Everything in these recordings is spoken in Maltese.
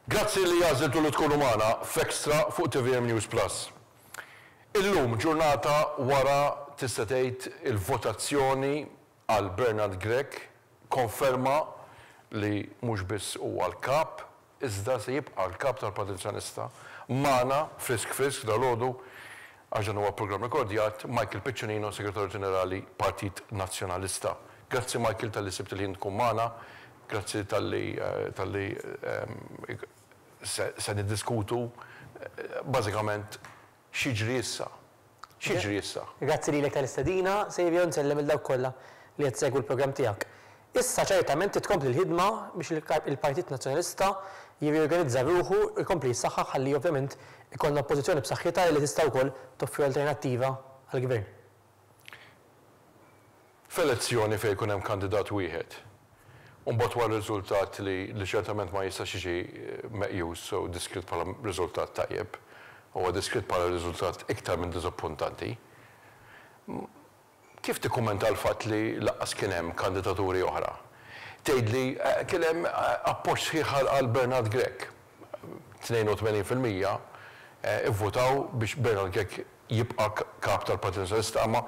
Grazzi li għażiltu li tkunu magħna f'Extra fuq tvm News Plus. Illum, ġurnata wara tista' tgħid il-votazzjoni għal Bernard Grech, konferma li mhux biss huwa l-Kap, iżda se jibqa' l-Kap tal-Partit Nazzjonalista. Magħna, frisk frisk dalgħodu, għax dan huwa programm rekordjat, Michael Piccinino, Segretarju Ġenerali Partit Nazzjonalista. Grazzi Michael talli sibt il-ħin tkun magħna. Grazzi talli talli se niddiskutu bażikament x'jiġri issa. X'jiġri issa? Grazzi lilek tal-istedina, Saviour, nsellem lil dawk kollha li qed isegwu l-programm tiegħek. Issa ċertament trid tkompli l-ħidma biex il-Partit Nazzjonalista jirriorganizza ruħu u jkompli jissaħħaħ ħalli ovvjament ikollna Oppożizzjoni b'saħħitha li tista' wkoll toffri alternattiva għall-Gvern. F'elezzjoni fejn ikun hemm kandidat wieħed, u mbagħad wara riżultat li li ċertament ma jistax jiġi meqjus u diskritt bħala riżultat tajjeb, huwa diskritt bħala riżultat iktar minn diżappuntanti, kif tikkummenta l-fatt li lanqas kien hemm kandidaturi oħra? Tgħidli kien hemm appoġġ sħiħ għal Bernard Grech. 82% ivvutaw biex Bernard Grech jibqa' Kap tal-Partit Nazzjonalista imma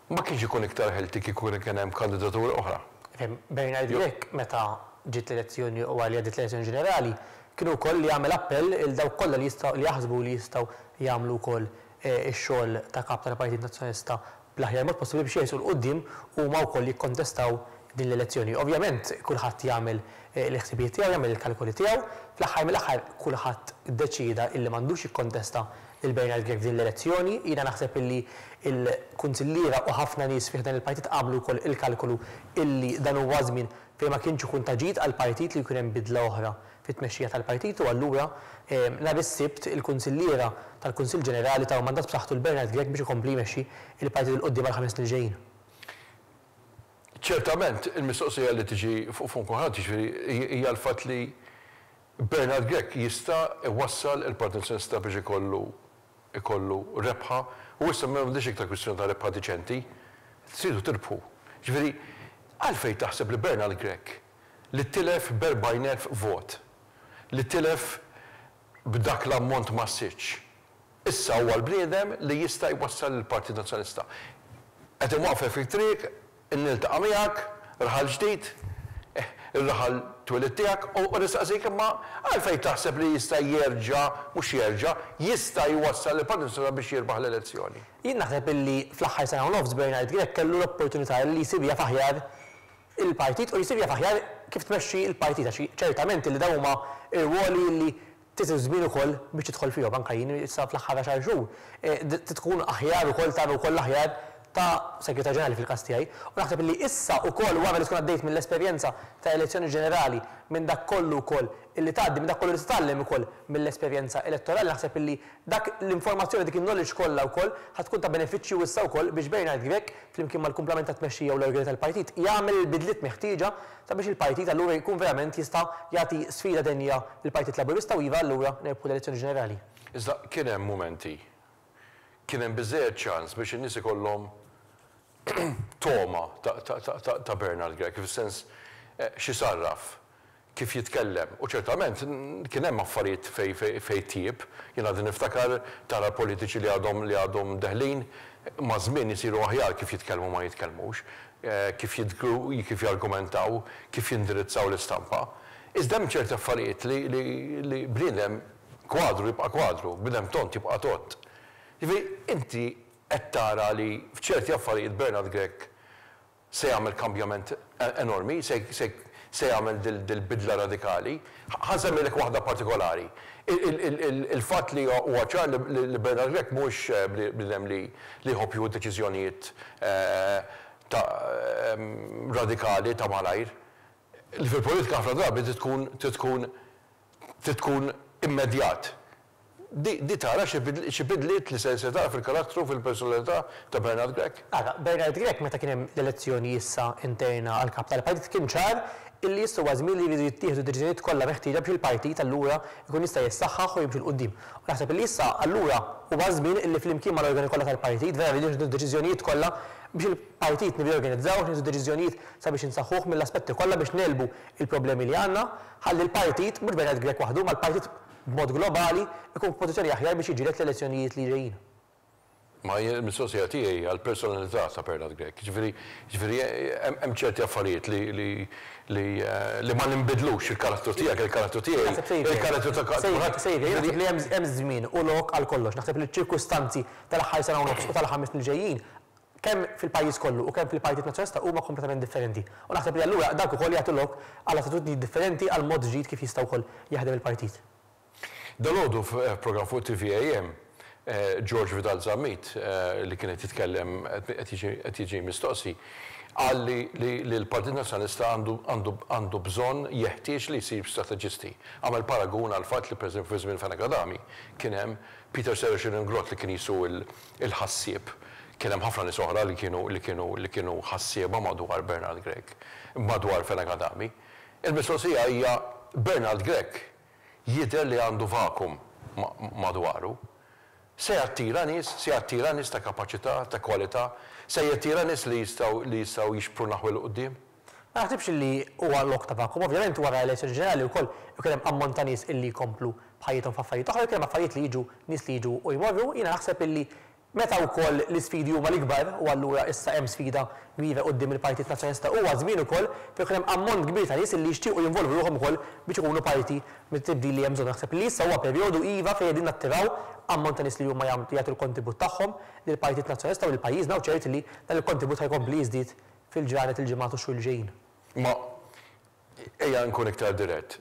ma kienx ikun iktar healthy kieku kien hemm kandidaturi oħra? Ifhem, Bernard Grech meta ġiet l-elezzjoni u wara li għaddiet l-elezzjoni ġenerali kien ukoll li għamel appell 'il dawk kollha li jistgħu li jaħsbu li jistgħu jagħmlu wkoll ix-xogħol ta' Kap tal-Partit Nazzjonalista bl-aħjar mod possibbli biex jersqu 'l quddiem huma wkoll jikkontestaw din l-elezzjoni. Ovvjament kulħadd jagħmel il-ħsibijiet tiegħu, jagħmel il-kalkoli tiegħu. Fl-aħħar mill-aħħar kulħadd iddeċieda illi m'għandux jikkontesta lil Bernard Grech f'din l-elezzjoni. Jiena naħseb illi l-kunsilliera u ħafna nies fi ħdan il-partit għamlu wkoll il-kalkolu illi dan huwa żmien fejn ma kienx ikun ta' ġid għall-partit li jkun hemm bidla oħra fit-tmexxija tal-partit u allura nhar is-Sibt il-kunsilliera tal-Kunsill Ġenerali taw mandat b'saħħtu lil Bernard Grech biex ikompli jmexxi l-partit 'il quddiem għall-ħames snin li ġejjin. Ċertament il-mistoqsija li tiġi fuq fomm kulħadd jiġifieri hija l-fatt li Bernard Grech jista' jwassal il-Partit Nazzjonalista biex ikollu ikollu rebħa u issa m'għandix iktar kwistjoni ta' rebħa diċenti, tridu tirbħu. Jiġifieri għalfejn taħseb li Bernard Grech li tilef b'40,000 vot, li tilef b'dak l-ammont massiċċ, issa huwa l-bniedem li jista' jwassal lill-Partit Nazzjonalista. Qed inwaqqfek fit-triq, niltaqa' miegħek, raħal ġdid, ir-raħal twelid tiegħek, u nistaqsik imma għalfejn taħseb li jista' jerġa', mhux jerġa', jista' jwassal lill-Partit Nazzjonalista biex jirbaħ l-elezzjoni? Jien naħseb illi fl-aħħar sena u nofs Bernard Grech kellu l-opportunità li jsir jaf aħjar il-partit u jsir jaf aħjar kif tmexxi l-partit għax ċertament li dawn huma rwoli li trid iż-żmien ukoll biex tidħol fihom. Anke jien issa fl-aħħar għaxar xhur trid tkun aħjar ukoll tara wkoll l-aħjar ta' Segretarju Ġenerali fil-każ tiegħi. U naħseb li issa wkoll wara li tkun għaddejt mill-esperjenza ta' elezzjoni ġenerali, minn dak kollu wkoll illi tgħaddi, minn dak kollu li titgħallem ukoll mill-esperjenza elettorali, naħseb illi dak l-informazzjoni, dik in-knowledge kollha wkoll ħa tkun ta' benefiċċju issa wkoll biex Bernard Grech flimkien mal-kumplament tat-tmexxija u l-organi tal-partit, jagħmel il-bidliet meħtieġa sabiex il-partit allura jkun verament jista' jagħti sfida denja lill-Partit Laburista u iva allura nerbħu l-elezzjoni ġenerali. Iżda kien hemm mumenti, kien hemm biżżejjed ċans biex in-nies ikollhom togħma ta' Bernard Grech, fis-sens x'isarraf, kif jitkellem. U ċertament kien hemm affarijiet fejn tjieb. Jien għadni niftakar tara politiċi li għadhom li għadhom deħlin, maż-żmien isiru aħjar kif jitkellmu u ma jitkellmux, kif jidhru, kif jargumentaw, kif jindirizzaw l-istampa. Iżda hemm ċerti affarijiet li li li bniedem kwadru jibqa' kwadru, bniedem tond jibqa' tond. Jiġifieri inti qed tara li f'ċerti affarijiet Bernard Grech se jagħmel kambjament enormi, se se jagħmel dil-bidla radikali. Ħa nsemmilek waħda partikolari. Il-fatt li huwa ċar li Bernard Grech mhuwiex bniedem li jħobb jieħu deċiżjonijiet ta' radikali ta' malajr. Li fil-politika ħafna drabi trid tkun trid tkun trid tkun immedjat. Di tara xi bidliet li se tara fil-karattru, fil-personalità ta' Bernard Grech? Ara, Bernard Grech meta kien hemm l-elezzjoni issa interna għal Kap tal-Partit kien ċar illi issa huwa żmien li jridu jittieħdu d-deċiżjonijiet kollha meħtieġa biex il-partit allura jkun jista' jissaħħaħ u jimxi 'l quddiem. U naħseb illi issa allura huwa ż-żmien illi flimkien mal-organi kollha tal-partit vera rridu nieħdu d-deċiżjonijiet kollha biex il-partit nirriorganizzawh, nieħdu deċiżjonijiet sabiex insaħħuh mill-aspetti kollha biex negħlbu l-problemi li għandna ħalli l-partit, mhux Bernard Grech waħdu, imma l-partit b'mod globali jkun f'pożizzjoni aħjar biex jiġġieled l-elezzjonijiet li ġejjin. Ma jien il-mistoqsija tiegħi hija l-personalità ta' Bernard Grech. Jiġifieri, jiġifieri hemm ċerti affarijiet li, li, li, li ma ninbidlux, il-karattru tiegħek, il-karattru tiegħi, il-karattru ta' kulħadd. Sejjer, jien naħseb li hemm hemm żmien u lok għal kollox. Naħseb li ċ-ċirkustanzi tal-aħħar sena u nofs u tal-ħames snin li ġejjin, kemm fil-pajjiż kollu u kemm fil-Partit Nazzjonalista huma kompletament differenti. U naħseb li allura dawk ukoll jagħtu lok għal attitudnijiet differenti għal mod ġdid kif jista' wkoll jaħdem il-partit. Dalgħodu f'programm fuq TVAM, George Vidal Zammit, li kien qed jitkellem qed jiġi mistoqsi, qal li li l-Partit Nazzjonalista għandu għandu għandu bżonn jeħtieġ li jsir strateġisti. Għamel paragun għall-fatt li pereżempju fi żmien Fenech Adami kien hemm Peter Serracin Inglott li kien qisu l-ħassieb. Kien hemm ħafna nies oħra li kienu li kienu li kienu ħassieba madwar Bernard Grech, madwar Fenech Adami. Il-mistoqsija hija Bernard Grech jidher li għandu vakum madwaru. Se jattira nies, se jattira nies ta' kapaċità, ta' kwalità, se jattira nies li jistgħu li jistgħu jixprunaw 'il quddiem? Ma naħsibx li huwa lok ta' vakum. Ovvjament wara elezzjoni ġenerali wkoll ikun hemm ammont ta' nies illi jkomplu b'ħajjithom f'affarijiet oħra, jkun hemm affarijiet li jiġu nies li jiġu u jmorru. Jiena naħseb illi Meta wkoll l-isfidi huma l-ikbar, u allura issa hemm sfida kbira quddiem il-Partit Nazzjonalista, huwa żmien ukoll fejn ikun hemm ammont kbir ta' nies li jixtiequ jinvolvu ruħhom ukoll biex ikunu parti mit-tibdil li hemm bżonn. Naħseb li issa huwa perjodu iva fejn qegħdin nattiraw ammont ta' nies li huma jagħtu l-kontribut tagħhom lill-Partit Nazzjonalista u lil pajjiżna u ċert li dan il-kontribut ħa jkompli jiżdied fil-ġranet, il-ġimgħat u x-xhur li ġejjin. Imma ejja nkun iktar dirett.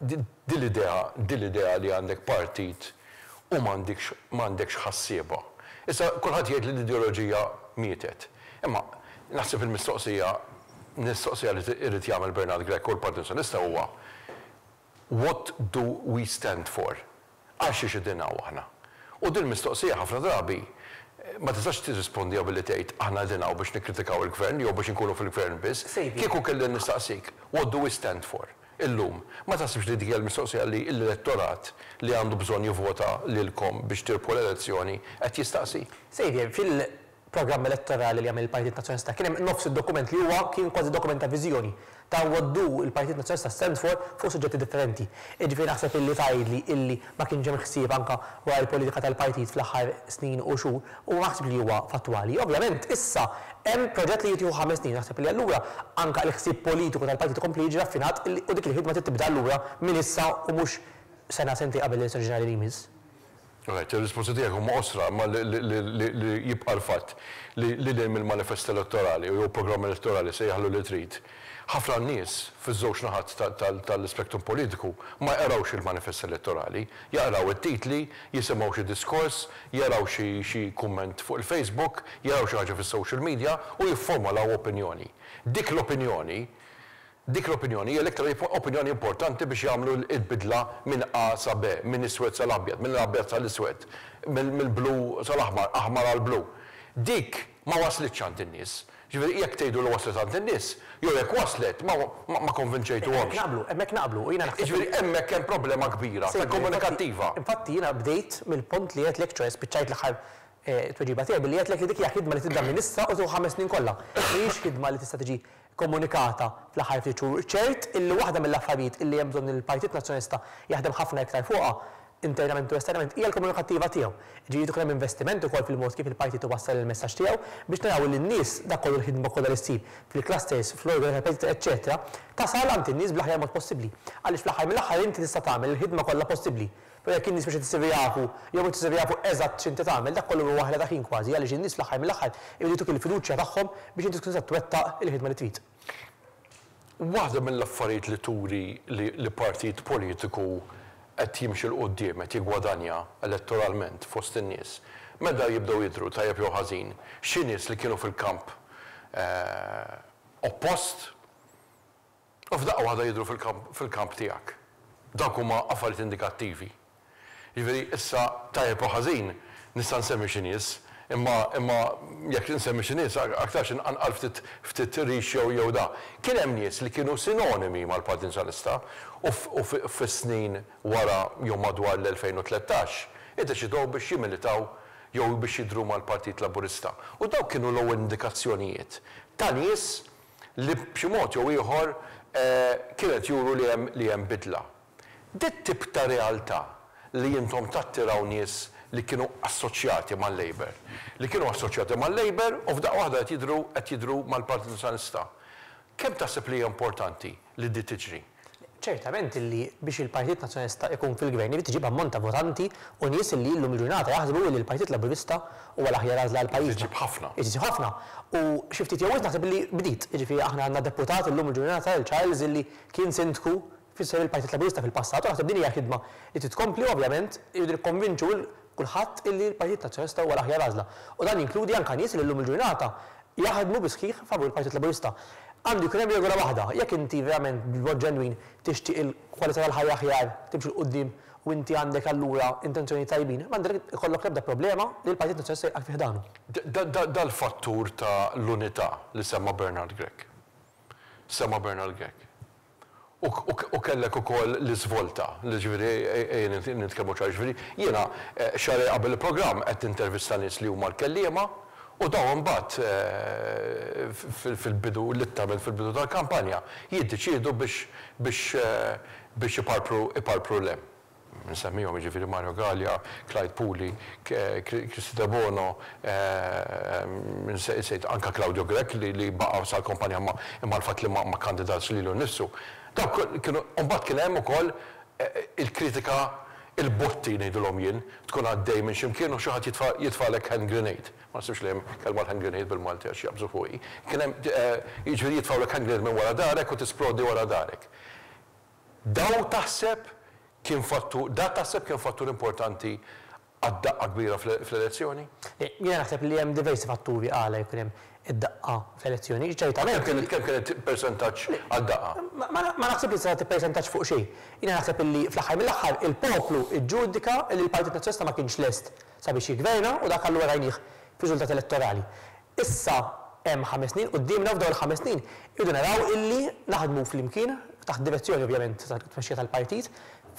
Din l-idea, din l-idea li għandek partit u m'għandikx, m'għandekx ħassieba. Issa kulħadd jgħid li l-ideoloġija mietet. Imma naħseb il-mistoqsija, mistoqsija li jrid jagħmel Bernard Grech u l-Partit Nazzjonalista huwa what do we stand for? Għal xiex qegħdin hawn aħna? U din il-mistoqsija ħafna drabi ma tistax tirrispondiha billi tgħid aħna qegħdin hawn biex nikkritikaw il-Gvern jew biex inkunu fil-Gvern biss. Kieku kelli nistaqsik what do we stand for? Illum, ma taħsibx li dik hija l-mistoqsija li l-elettorat li għandu bżonn jivvota lilkom biex tirbħu l-elezzjoni qed jistaqsi? Xavier, fil-programm elettorali li għamel il-Partit Nazzjonalista kien hemm nofs id-dokument li huwa kien kważi dokument ta' viżjoni ta' what do il-Partit Nazzjonalista stand for fuq suġġetti differenti. Jiġifieri naħseb illi tgħidli illi ma kienx hemm ħsieb anke wara l-politika tal-partit fl-aħħar snin u xhur u ma naħsibx li huwa fattwali. Ovvjament issa hemm proġett li jrid jieħu ħames snin, naħseb li allura anke l-ħsieb politiku tal-partit ikompli jiġi raffinat u dik il-ħidma trid tibda allura minn issa u mhux sena sentejn qabel l-elezzjoni ġenerali li jmiss. Right, ir-risposti tiegħek huma qosra, imma li jibqa' l-fatt li lil hinn mill-manifest elettorali jew programm elettorali sejjaħlu li trid, ħafna nies fiż-żewġ naħat tal-ispektrum politiku ma jqrawx il-manifest elettorali, jaqraw it-titli, jisimgħu xi diskors, jaraw xi kumment fuq il-Facebook, jaraw xi ħaġa fis-social media u jifformolaw opinjoni. Dik l-opinjoni, dik l-opinjoni hija l-iktar opinjoni importanti biex jagħmlu l-bidla minn A sa B, minn iswed sal-abjad, mill-abjad sal-iswed, mill-blu sal-aħmar, aħmar għall-blu. Dik ma waslitx għand in-nies. Ġifieri jekk tgħidu li waslet għand in-nies, jew jekk waslet ma ma konvinċejtuhomx. Hemmhekk naqblu, hemmhekk naqblu u jiena naħseb. Jiġifieri hemmhekk hemm problema kbira ta' komunikattiva. Infatti jiena bdejt mill-punt li għedtlek, ċoe spiċċajt l-aħħar tweġiba tiegħi billi għedtlek li dik hija ħidma li tibda minn issa u tieħu ħames snin kollha. Mhijiex ħidma li tista' tiġi komunikata fl-aħħar ftit xhur. Ċert illi waħda mill-affarijiet illi hemm bżonn li l-Partit Nazzjonalista jaħdem ħafna iktar fuqha internament u esternament, hija l-komunikattiva tiegħu. Jiġifieri jrid ikun hemm investiment ukoll fil-mod kif il-partit iwassal il-messaġġ tiegħu biex naraw li n-nies, dak kollu l-ħidma kollha li ssir fil-clusters, fl-organi tal-partit eċċetera, tasal għand in-nies bl-aħjar mod possibbli. Għaliex fl-aħħar mill-aħħar inti tista' tagħmel il-ħidma kollha possibbli, però jekk in-nies mhux qed isiru jafu jew mhux isiru jafu eżatt x'inti tagħmel, dak kollu huwa ħela ta' ħin kważi għaliex in-nies fl-aħħar mill-aħħar iridu jtuk il-fiduċja tagħhom biex inti tkun tista' twettaq il-ħidma li trid. Waħda mill-affarijiet li turi li partit politiku qed jimxi 'l quddiem, qed jiggwadanja elettoralment fost in-nies, meta jibdew jidhru, tajjeb jew ħażin, xi nies li kienu fil-kamp oppost u f'daqqa waħda jidhru fil-kamp tiegħek. Dawk huma affarijiet indikattivi. Jiġifieri issa tajjeb u ħażin nista' nsemmi xi nies Imma imma jekk insemmi xi nies aktarx inqanqal ftit ftit rix jew jew da. Kien hemm nies li kienu sinonimi mal-Partit Nazzjonalista u u fis-snin wara jew madwar l-2013 iddeċidew biex jimmilitaw jew biex jidhru mal-Partit Laburista. U dawk kienu l-ewwel indikazzjonijiet ta' nies li b'xi mod jew ieħor kienu qed juru li hemm li hemm bidla. Dit-tip ta' realtà li intom tattiraw nies li kienu assoċjati mal-Labour, li kienu assoċjati mal-Labour u f'daqqa waħda qed jidhru qed jidhru mal-Partit Nazzjonalista. Kemm taħseb li hija importanti li di tiġri? Ċertament illi biex il-Partit Nazzjonalista ikun fil-Gvern irid iġib ammont ta' votanti u nies illi illum il-ġurnata jaħsbu illi l-Partit Laburista huwa l-aħjar għażla għal pajjiżna. Irid iġib ħafna. Irid iġib ħafna. U xi ftit jew wisq naħseb illi bdiet. Jiġifieri aħna għandna deputat illum il-ġurnata, il Charles, illi kien Sindku f'isem il-Partit Laburista fil-passat u naħseb din hija ħidma li trid tkompli u ovvjament irridu nikkonvinċu 'l kulħadd illi l-Partit Nazzjonalista huwa l-aħjar għażla. U dan jinkludi anke nies li llum il-ġurnata jaħdmu bis-sħiħ favur il-Partit Laburista. Għandu jkun hemm regola waħda, jekk inti verament b'mod ġenwin tixtieq il-kwalità tal-ħajja aħjar, timxi 'l quddiem u inti għandek allura intenzjonijiet tajbin, m'għandek ikollok l-ebda problema li l-Partit Nazzjonalista jilqgħek fi ħdanu. Dal-fattur ta' l-unità li semma Bernard Grech. Semma Bernard Grech. U kellek ukoll l-iżvolta, jiġifieri ejja nitkellmu ċar, jiġifieri jiena xahrejn qabel il-programm qed nintervista nies li huma l-kelliema u dawn imbagħad fil-bidu, litteralment fil-bidu tal-kampanja, jiddeċiedu biex biex biex iparpru iparpru 'l hemm. Nsemmihom, jiġifieri Mario Galea, Clyde Puli, Kristy Debono, nsejt anke Claudio Grech li baqa' sal-kampanja imma imma l-fatt li ma kkandidatx lilu nnifsu. Dawk kienu, u mbagħad kien hemm ukoll il-kritika, il-botti ngħidilhom jien, tkun għaddej minn xi mkien u xi ħadd jitfa' jitfagħlek hand grenade. Ma naħsibx li hemm kelma l-hand grenade bil-Malti għax jaqbżu fuqi. Kien hemm, jiġifieri jitfgħulek hand grenade minn wara darek u tisplodi wara darek. Daw taħseb kien fattur, da taħseb kien fattur importanti għad-daqqa kbira fl-elezzjoni? Le, jiena naħseb li hemm diversi fatturi għala jkun hemm id-daqqa fl-elezzjoni. Ċertament. Kemm kienet, kemm kienet persentaġġ għad-daqqa? Ma naħsibx li tista' tagħti persentaġġ fuq xejn. Jiena naħseb illi fl-aħħar mill-aħħar il-poplu ġġudika li l-Partit Nazzjonalista ma kienx lest sabiex jiggverna u dak allura rajnih fir-riżultat elettorali. Issa hemm ħames snin quddiemna u f'dawn il-ħames snin irridu naraw illi naħdmu flimkien, taħt direzzjoni ovvjament tat-tmexxija tal-partit,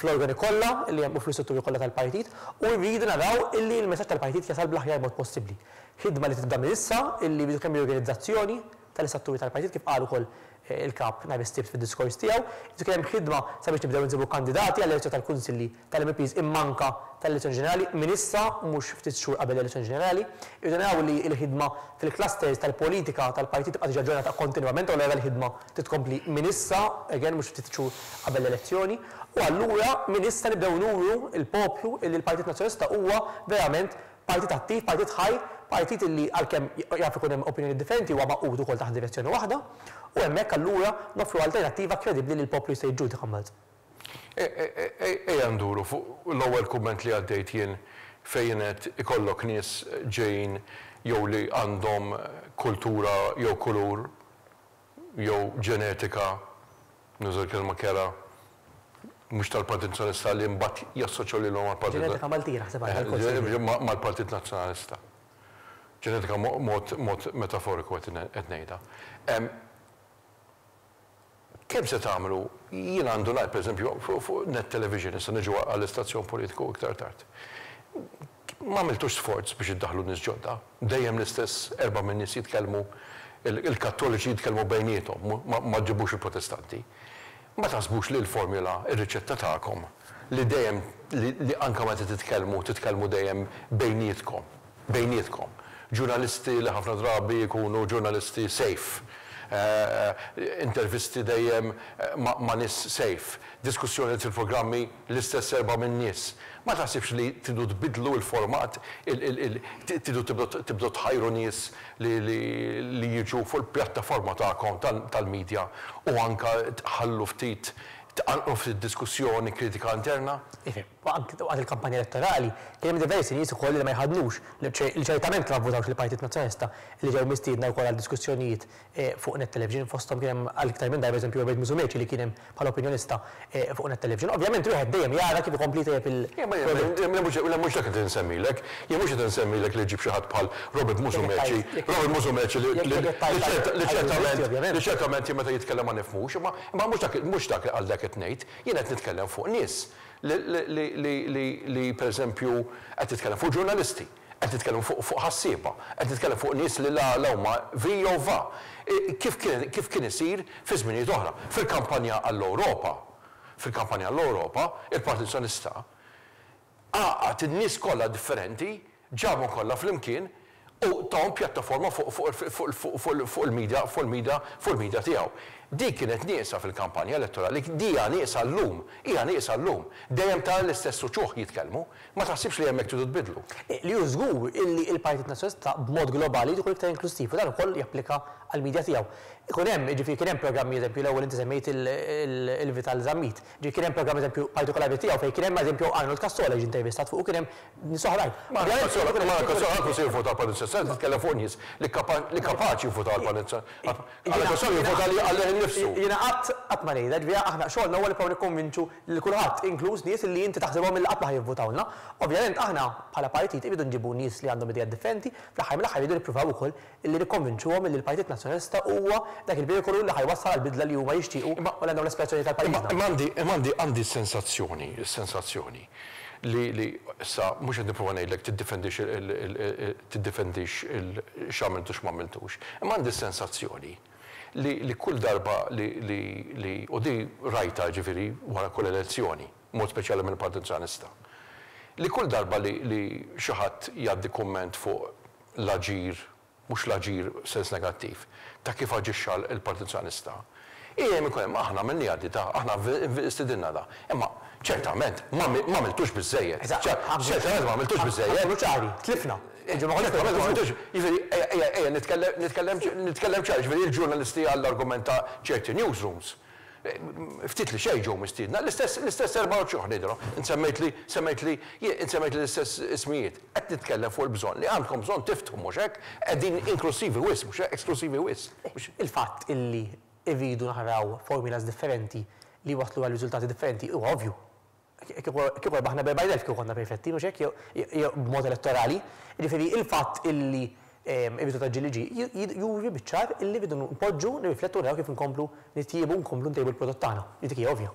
fl-organi kollha li hemm u fl-istrutturi kollha tal-partit u rridu naraw illi l-messaġġ tal-partit jasal bl-aħjar mod possibbli. Ħidma li tibda minn issa illi jridu kemm riorganizzazzjoni tal-istrutturi tal-partit kif qal ukoll il-Kap nhar is-Sibt fid-diskors tiegħu, irid ikun hemm ħidma sabiex nibdew insibu kandidati għall-elezzjoni tal-Kunsilli tal-MEPs imma anke tal-elezzjoni ġenerali minn issa u mhux ftit xhur qabel l-elezzjoni ġenerali. Irridu naraw li l-ħidma fil-clusters tal-politika tal-partit tibqa' tiġi aġġornata kontinwament u allura l-ħidma trid tkompli minn issa, again mhux ftit xhur qabel l-elezzjoni. U allura minn issa nibdew nuru l-poplu illi l-Partit Nazzjonalista huwa verament Partit attiv, partit ħaj, partit illi għalkemm jaf ikun hemm opinjonijiet differenti huwa magħqud ukoll taħt direzzjoni waħda u hemmhekk allura noffru alternattiva kredibbli li l-poplu jista' jiġġudika mbagħad. Ejja nduru fuq l-ewwel kumment li għaddejt jien fejn għedt ikollok nies ġejjin jew li għandhom kultura jew kulur jew ġenetika, nuża l-kelma kerha, mhux tal-Partit Nazzjonalista li mbagħad jassoċjaw lilhom mal-Partit Ġenetika Maltija naħseb għandha l-konsegwenzi. Mal-Partit Nazzjonalista. Ġenetika mod mod metaforiku qed ngħidha. Kemm se tagħmlu, jiena għandu ngħid pereżempju fuq Net Television, issa niġu għall-istazzjon politiku iktar tard. Ma għamiltux sforz biex iddaħħlu nies ġodda. Dejjem l-istess erbgħa min-nies jitkellmu, il-Kattoliċi jitkellmu bejniethom, ma ġġibux il-Protestanti. Ma taħsbux li l-formula, ir-riċetta tagħkom, li dejjem, li anke meta titkellmu, titkellmu dejjem bejnietkom, bejnietkom. Ġurnalisti li ħafna drabi jkunu ġurnalisti safe, intervisti dejjem ma' nies safe, diskussjonijiet fil-programmi l-istess erbgħa min-nies. Ma taħsibx li tridu tbiddlu l-format, tridu tibdew tħajru nies li jiġu fuq il-pjattaforma tagħkom tal-media u anke tħallu ftit. Tqanqlu ftit diskussjoni kritika interna? Ifhem, anki waqt il-kampanja elettorali kien hemm diversi nies ukoll li ma jħaddnux, li ċertament ma vvutawx lill-Partit Nazzjonalista li ġew mistiedna wkoll għal diskussjonijiet fuq Net Television, fosthom kien hemm għal iktar minn darba eżempju Robert Musumeci li kien hemm bħala opinjonista fuq Net Television. Ovvjament wieħed dejjem jara kif ikompli jtejjeb il-prodott. Le mhux dak qed insemmilek. Jien mhux qed insemmilek li ġġib xi ħadd bħal Robert Musumeci, Robert Musumeci li ċertament jien meta jitkellem ma nifhmux, imma Imma mhux dak, mhux dak għal dak qed ngħid. Jien qed nitkellem fuq nies li, li, li, li, li pereżempju qed nitkellem fuq ġurnalisti, qed nitkellem fuq, fuq ħassieba, qed nitkellem fuq nies li la, la huma vi jew va. Kif kien, kif kien isir fi żminijiet oħra. Fil-kampanja għall-Ewropa, fil-kampanja għall-Ewropa, il-Partit Nazzjonalista għaqqad in-nies kollha differenti, ġabhom kollha flimkien u tahom pjattaforma fuq il-media fuq il-media fuq il-media tiegħu. Dik kienet nieqsa fil-kampanja elettorali, di hija nieqsa llum, hija nieqsa llum. Dejjem tara l-istess uċuħ jitkellmu. Ma taħsibx li hemmhekk tridu tbiddlu? Li hu żgur illi l-Partit Nazzjonalista b'mod globali jrid ikun iktar inklussiv u dan ukoll japplika għall-media tiegħu. Ikun hemm, jiġifieri kien hemm programmi eżempju l-ewwel inti semmejt il-Vital Zammit. Ġifieri kien hemm programm eżempju partikolari tiegħu fejn kien hemm eżempju Arnold Cassola jiġi intervistat fuq u kien hemm nies oħrajn. Ma Arnold Cassola, ma Arnold Cassola ħadd mhu se jivvota għall-Partit Nazzjonalista, qed nitkellem fuq nies li li kapaċi jivvutaw għall-Partit Nazzjonalista. Arnold Cassola jivvota għalih innifsu. Jiena qatt qatt ma ngħidha, ġifieri aħna xogħolna huwa li nipprovaw nikkonvinċu lil kulħadd, inkluż nies li inti taħsibhom li qatt ma ħa jivvutawlna. Ovvjament aħna bħala partit irridu nġibu nies li għandhom ideat differenti, fl-aħħar mill-aħħar irridu nippruvaw ukoll Illi nikkonvinċuhom illi l-Partit Nazzjonalista huwa dak il-veikolu li ħa jwassal għall-bidla li huma jixtiequ u li għandhom l-aspirazzjonijiet għal pajjiżna. Imma għandi, imma għandi, għandi s-sensazzjoni, is-sensazzjoni li, li issa mhux qed nipprova ngħidlek tiddefendix il, il, tiddefendix il, x'għamilt u x'm'għamiltux, imma għandi s-sensazzjoni li, li kull darba li, li, li, u di rajtha jiġifieri wara kull elezzjoni, b'mod speċjali mill-Partit Nazzjonalista, li kull darba li, li xi ħadd jgħaddi kumment fuq l-aġir, mhux l-aġir f'sens negattiv, ta' kif aġixxa l-Partit Nazzjonalista, dejjem ikun hemm aħna għamilniha di ta' aħna stidinna da. Imma ċertament ma għamiltux biżżejjed. Ċertament ma għamiltux biżżejjed. Ħa nkunu ċari, tlifna. Ċertament ma għamiltux, jiġifieri ejja ejja nitkellem nitkellem nitkellem ċar, jiġifieri l-ġurnalisti għall-argument ta' ċerti newsrooms, Ftit li xejn ġew mistiedna. L-istess, l-istess 24 ngħidilhom. Int semmejtli, semmejtli, int semmejtli l-istess ismijiet. Qed nitkellem fuq il-bżonn li għandkom bżonn tiftħu, mhux hekk? Qegħdin inklussivi wisq, mhux hekk? Esklussivi wisq, mhux. Il-fatt illi rridu naraw formulas differenti li jwasslu għal riżultati differenti huwa ovvju. Kieku rbaħna b'40,000 kieku konna perfetti, mhux hekk? Jew b'mod elettorali. Jiġifieri il-fatt illi r-riżultat ġie li ġie juri biċ-ċar illi rridu npoġġu, nirriflettu u naraw kif inkomplu nitjiebu u nkomplu ntejbu l-prodott tagħna. Dik hija ovvja.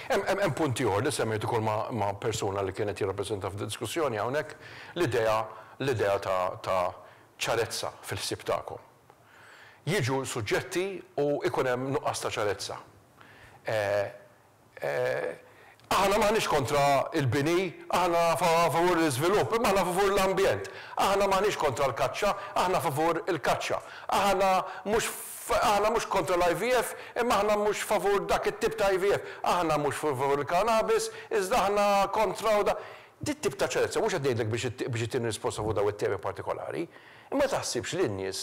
Hemm punt ieħor li semmejt ukoll ma' persuna li kien qed jirrappreżenta f'diskussjoni hawnhekk, l-idea l-idea ta' ċarezza fil-ħsieb tagħkom. Jiġu suġġetti u jkun hemm nuqqas ta' ċarezza. Aħna m'aħniex kontra l-bini, aħna favur l-iżvilupp, imma aħna favur l-ambjent. Aħna m'aħniex kontra l-kaċċa, aħna favur il-kaċċa. Aħna mhux aħna mhux kontra l-IVF, imma aħna mhux favur dak it-tip ta' IVF. Aħna mhux favur il-cannabis, iżda aħna kontra u da. Dit-tip ta' ċarezza, mhux qed ngħidlek biex ittini risposta fuq dawn it-temi partikolari, imma taħsibx li n-nies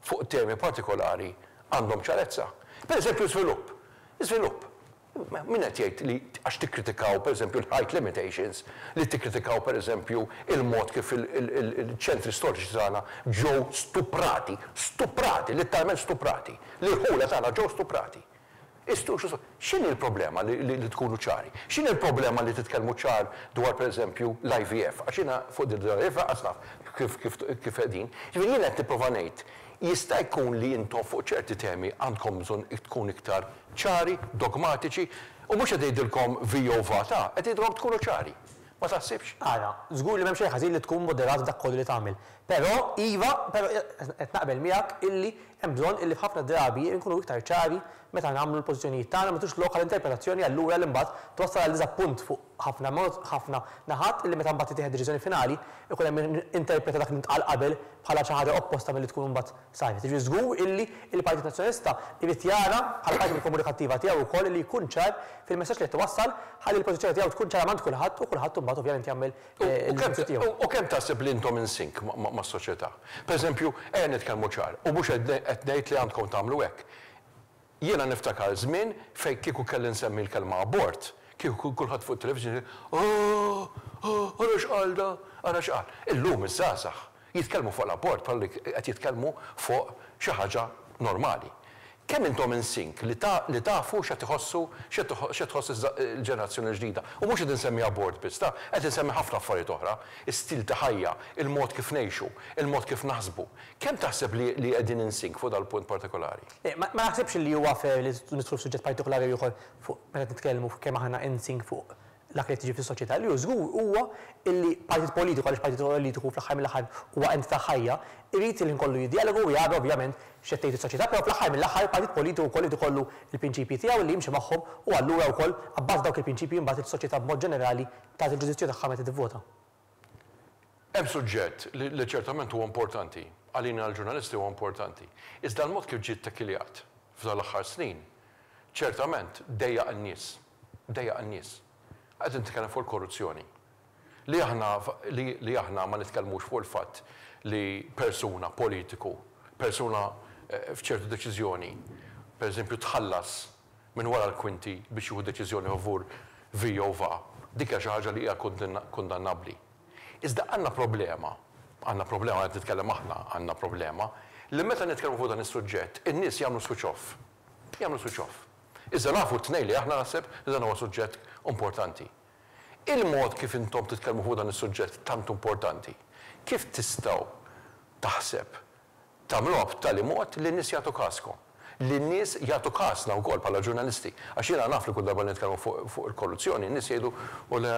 fuq temi partikolari għandhom ċarezza. Per eżempju żvilupp. Żvilupp. Min qed jgħid li għax tikkritikaw per eżempju l-height limitations, li tikkritikaw per eżempju il-mod kif il-ċentri storiċi tagħna ġew stuprati, stuprati, litteralment stuprati, l-irħula tagħna ġew stuprati. X'inhi l-problema li tkunu ċari? X'inhi l-problema li titkellmu ċar dwar pereżempju l-IVF? Għax jiena fuq din l-IVF lanqas naf kif kif qegħdin. Jiġifieri jiena qed nipprova ngħid, jista' jkun li intom fuq ċerti temi għandkom bżonn tkun iktar ċari, dogmatiċi, u mhux qed ngħidilkom vi jew va ta, qed ngħidilkom tkunu ċari. Ma taħsibx? Ara, żgur li m'hemm xejn ħażin li tkun moderat f'dak kollu li tagħmel. Però, iva, però qed naqbel miegħek illi hemm bżonn illi f'ħafna drabi nkunu iktar ċari meta nagħmlu l-pożizzjonijiet tagħna, ma nagħtux lok għal interpretazzjoni allura li mbagħad twassal għal diżappunt fuq ħafna mod, ħafna naħat illi meta mbagħad tittieħed deċiżjoni finali jkun hemm min interpreta dak li ntqal qabel bħala xi ħaġa opposta milli tkun imbagħad saret. Jiġifieri żgur illi l-Partit Nazzjonalista jrid jara, bħala parti mill-komunikattiva tiegħu wkoll, illi jkun ċar fil-messaġġ li qed iwassal ħalli l-pożizzjoni tiegħu tkun ċara m'għand kulħadd u kulħadd imbagħad ovvjament jagħmel il-ġudizzju tiegħu. U kemm taħseb li intom in sync mas-soċjetà? Pereżempju, ejja nitkellmu ċar, u mhux qed ngħid li għandkom tagħmlu hekk. Jiena niftakar żmien fejn kieku kelli nsemmi l-kelma abort, kieku kulħadd fuq it-television jgħid, Oh! Oh! Ara x'qal da! Ara x'qal! Illum iż-żgħażagħ jitkellmu fuq l-abort bħal li qed jitkellmu fuq xi ħaġa normali. Kemm intom in sync li li tafu x'qed iħossu, x'qed tħoss il-ġenerazzjoni l-ġdida. U mhux qed insemmi abort biss, ta, qed insemmi ħafna affarijiet oħra, is-stil ta' ħajja, il-mod kif ngħixu, il-mod kif naħsbu. Kemm taħseb li li qegħdin in sync fuq dal-punt partikolari? Le, ma naħsibx li huwa fair li nidħlu f'suġġett partikolari jew ieħor fuq meta nitkellmu fuq kemm aħna in sync fuq dak li qed jiġri fis-soċjetà. Li hu żgur huwa illi partit politiku, għaliex partit politiku fl-aħħar mill-aħħar huwa entità ħajja, irid il-ħin kollu jiddjaloga u jara ovvjament x'qed tgħid is-soċjetà, però fl-aħħar mill-aħħar partit politiku wkoll irid ikollu l-prinċipji tiegħu li jimxi magħhom u allura wkoll abbażi ta' dawk il-prinċipji imbagħad is-soċjetà b'mod ġenerali tagħti l-ġudizzju tagħha meta tivvota. Hemm suġġett li ċertament huwa importanti, għalina l-ġurnalisti huwa importanti, iżda l-mod kif ġie ttekiljat f'dawn l-aħħar snin ċertament dejjaq in-nies. Dejjaq in-nies. Qed nitkellem fuq il-korruzzjoni. Li aħna li aħna ma nitkellmux fuq il-fatt li persuna, politiku, persuna f'ċertu deċiżjoni, pereżempju tħallas minn wara l-kwinti biex jieħu deċiżjoni favur vi jew va, dik hija xi ħaġa li hija kundannabbli. Iżda għandna problema, għandna problema, qed nitkellem aħna għandna problema, li meta nitkellmu fuq dan is-suġġett, in-nies jagħmlu switch off. Jagħmlu switch off. Iżda nafu t-tnejn li aħna naħseb li dan huwa suġġett importanti. Il-mod kif intom titkellmu fuq dan is-suġġett tant importanti, kif tistgħu taħseb tagħmluha b'tali mod li n-nies jagħtu kaskom? Li n-nies jagħtu kasna wkoll bħala ġurnalisti. Għax jiena naf li kull darba li nitkellmu fuq il-korruzzjoni, n-nies jgħidu u le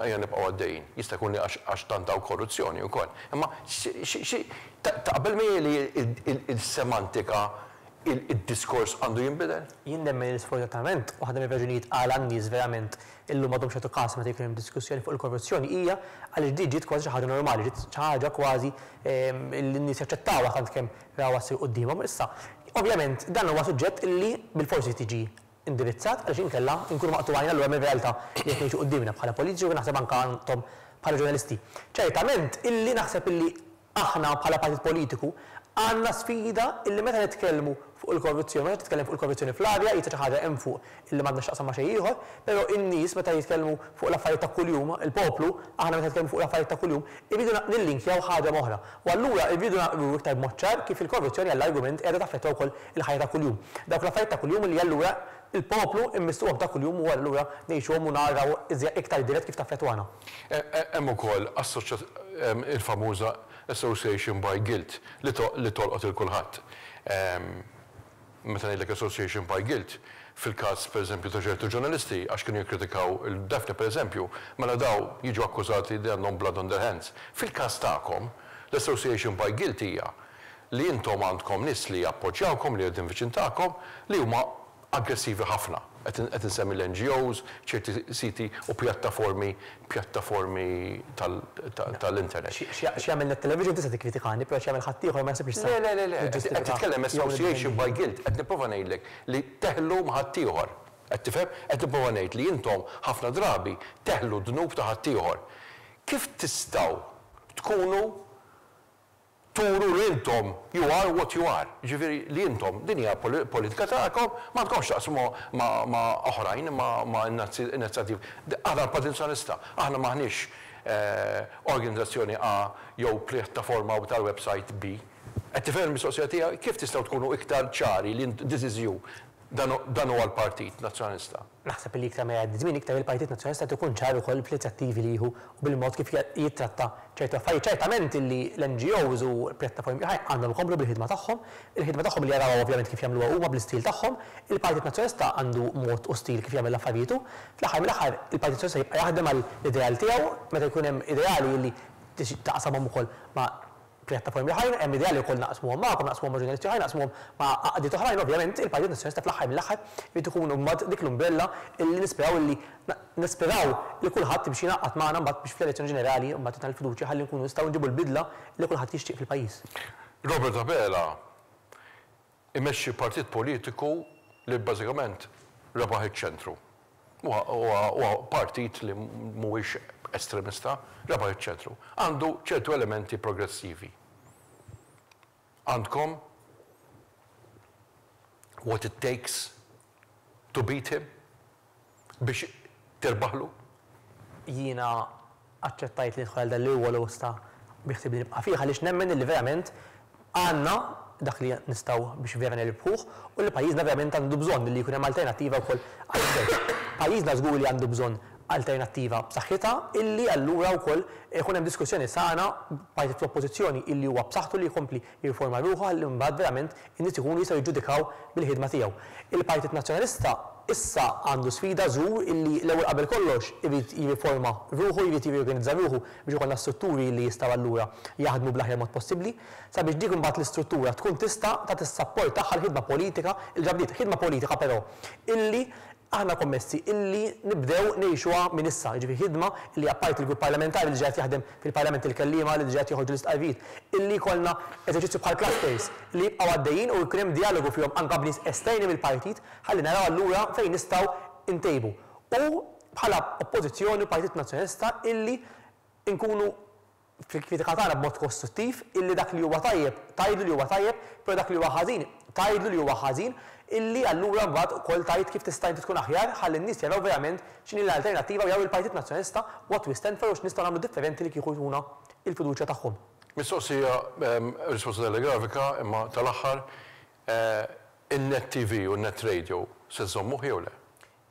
ejja nibqgħu għaddejjin. Jista' jkun li għax tant hawn korruzzjoni wkoll. Imma xi taqbel miegħi li l-semantika id-diskors għandu jinbidel? Jien nemmen li sfortunatament waħda mir-raġunijiet għala n-nies verament illum m'għadhomx jagħtu kas meta jkun hemm diskussjoni fuq il-korruzzjoni hija għaliex din ġiet kważi xi ħaġa normali, ġiet xi ħaġa kważi li n-nies jaċċettawha tant kemm rawha ssir quddiemhom. Issa, ovvjament dan huwa suġġett li bilfors irid jiġi indirizzat għaliex inkella nkunu maqtugħin allura mir-realtà li qed ngħixu quddiemna bħala politiċi u naħseb anke intom bħala ġurnalisti. Ċertament illi naħseb illi Aħna bħala partit politiku għandna sfida illi meta nitkellmu fuq il-korruzzjoni, meta titkellem fuq il-korruzzjoni fl-arja qisha xi ħaġa hemm fuq illi m'għandha x'taqsam ma' xejn ieħor, però in-nies meta jitkellmu fuq l-affarijiet ta' kuljum, il-poplu, aħna meta nitkellmu fuq l-affarijiet ta' kuljum, irridu nillinkjaw ħaġa m'oħra. U allura rridu nuru iktar b'mod ċar kif il-korruzzjoni għall-argument qiegħda taffettwa wkoll il-ħajja ta' kuljum. Dawk l-affarijiet ta' kuljum illi allura il-poplu immissuhom ta' kuljum u allura ngħixuhom u naraw iktar dirett kif taffettwana. Hemm ukoll il-famuża association by guilt li tolqot lil kulħadd. Meta ngħidlek association by guilt, fil-każ pereżempju ta' ċertu ġurnalisti għax kienu jikkritikaw lil Daphne pereżempju, mela dawn jiġu akkużati li għandhom blood on their hands. Fil-każ tagħkom, l-association by guilt hija li intom għandkom nies li jappoġġjawkom, li qegħdin viċin tagħkom, li huma aggressivi ħafna. Qed insemmi l-NGOs, ċerti siti u pjattaformi pjattaformi tal-internet. X'jagħmel Net Television tista' tikkritikani, però x'jagħmel ħaddieħor ma naħsibx li tista' Le, le, le, le, qed titkellem association by guilt, qed nipprova ngħidlek li teħlu ma' ħaddieħor. Qed tifhem? Qed nipprova ngħid li intom ħafna drabi teħlu d-dnub ta' ħaddieħor. Kif tistgħu tkunu turu li intom you are what you are, jiġifieri li intom din hija politika tagħkom, m'għandkomx x'taqsmu ma' oħrajn, ma' inizjattivi. Aħna l-Partit Nazzjonalista, aħna m'aħniex organizzazzjoni A jew pjattaforma tal-website B. Qed tifhem il-mistoqsija tiegħi? Kif tistgħu tkunu iktar ċari li this is you, dan huwa l-Partit Nazzjonalista? Naħseb li iktar ma jgħaddi żmien iktar il-Partit Nazzjonalista qed ikun ċar ukoll fl-inizjattivi li jieħu u bil-mod kif jittratta ċertu affarijiet. Ċertament illi l-NGOs u pjattaformi oħrajn għandhom ikomplu bil-ħidma tagħhom, il-ħidma tagħhom li jarawha ovvjament kif jagħmluha huma bl-istil tagħhom. Il-Partit Nazzjonalista għandu mod u stil kif jagħmel l-affarijiet hu. Fl-aħħar mill-aħħar il-Partit Nazzjonalista jibqa' jaħdem għall-ideal tiegħu meta jkun hemm ideali illi taqsamhom ukoll ma' pjattaformi oħrajn, hemm idea li wkoll naqsmuhom magħkom, naqsmuhom ma' ġurnalisti oħrajn, naqsmuhom ma' għaqdiet oħrajn, ovvjament il-Partit Nazzjonalista fl-aħħar mill-aħħar irid ikun mbagħad dik l-umbrella illi nisperaw illi nisperaw li kulħadd biex jingħaqad magħna mbagħad biex fl-elezzjoni ġenerali mbagħad jagħtina l-fiduċja ħalli nkunu nistgħu nġibu l-bidla li kulħadd jixtieq fil-pajjiż. Robert Abela imexxi partit politiku li bażikament rebaħ iċ-ċentru. Huwa partit li mhuwiex estremista, rebaħ iċ-ċentru. Għandu ċertu elementi progressivi. Għandkom what it takes to beat him? Biex tirbaħlu? Jiena aċċettajt li nidħol għal dan l-irwol u issa biħsiebni nibqa' fih għaliex nemmen illi verament għandna dak li nistgħu biex vera nirbħuh u li pajjiżna verament għandu bżonn li jkun hemm alternattiva wkoll għall-gvern. Pajjiżna żgur li għandu bżonn alternattiva b'saħħitha illi allura wkoll ikun hemm diskussjoni sana b'partit fl-Oppożizzjoni illi huwa b'saħħtu li jkompli jirriforma ruħu ħalli mbagħad verament in-nies ikunu jistgħu jiġġudikaw bil-ħidma tiegħu. Il-Partit Nazzjonalista issa għandu sfida żgur illi l-ewwel qabel kollox irid jirriforma ruħu, jrid jirriorganizza ruħu biex ikollna strutturi li jistgħu allura jaħdmu bl-aħjar mod possibbli sabiex dik imbagħad l-istruttura tkun tista' tagħti s-sapport tagħha l-ħidma politika li ġa bdiet, ħidma politika però illi Aħna kommessi illi nibdew ngħixuha minn issa, jiġifieri ħidma illi apparti l-grupp parlamentari li diġà qed jaħdem fil-Parlament il-kelliema li diġà qed joħorġu l-istqarrijiet, illi jkollna eżerċizzju bħal clusters li jibqgħu għaddejjin u jkun hemm djalogu fihom anke b'nies esterni mill-partit ħalli naraw allura fejn nistgħu ntejbu. U bħala Oppożizzjoni u Partit Nazzjonalista illi nkunu fil-kritika tagħna b'mod kostruttiv illi dak li huwa tajjeb tgħidlu li huwa tajjeb, però dak li huwa ħażin tgħidlu li huwa ħażin, illi allura mbagħad ukoll tgħid kif tista' inti tkun aħjar ħalli n-nies jaraw verament x'inhi l-alternattiva u jaraw il-Partit Nazzjonalista what we stand for u x'nistgħu nagħmlu differenti li kieku jtuna l-fiduċja tagħhom. Mistoqsija, risposta telegrafika imma tal-aħħar, in-Net TV u n-Net Radio se żżommuh jew le?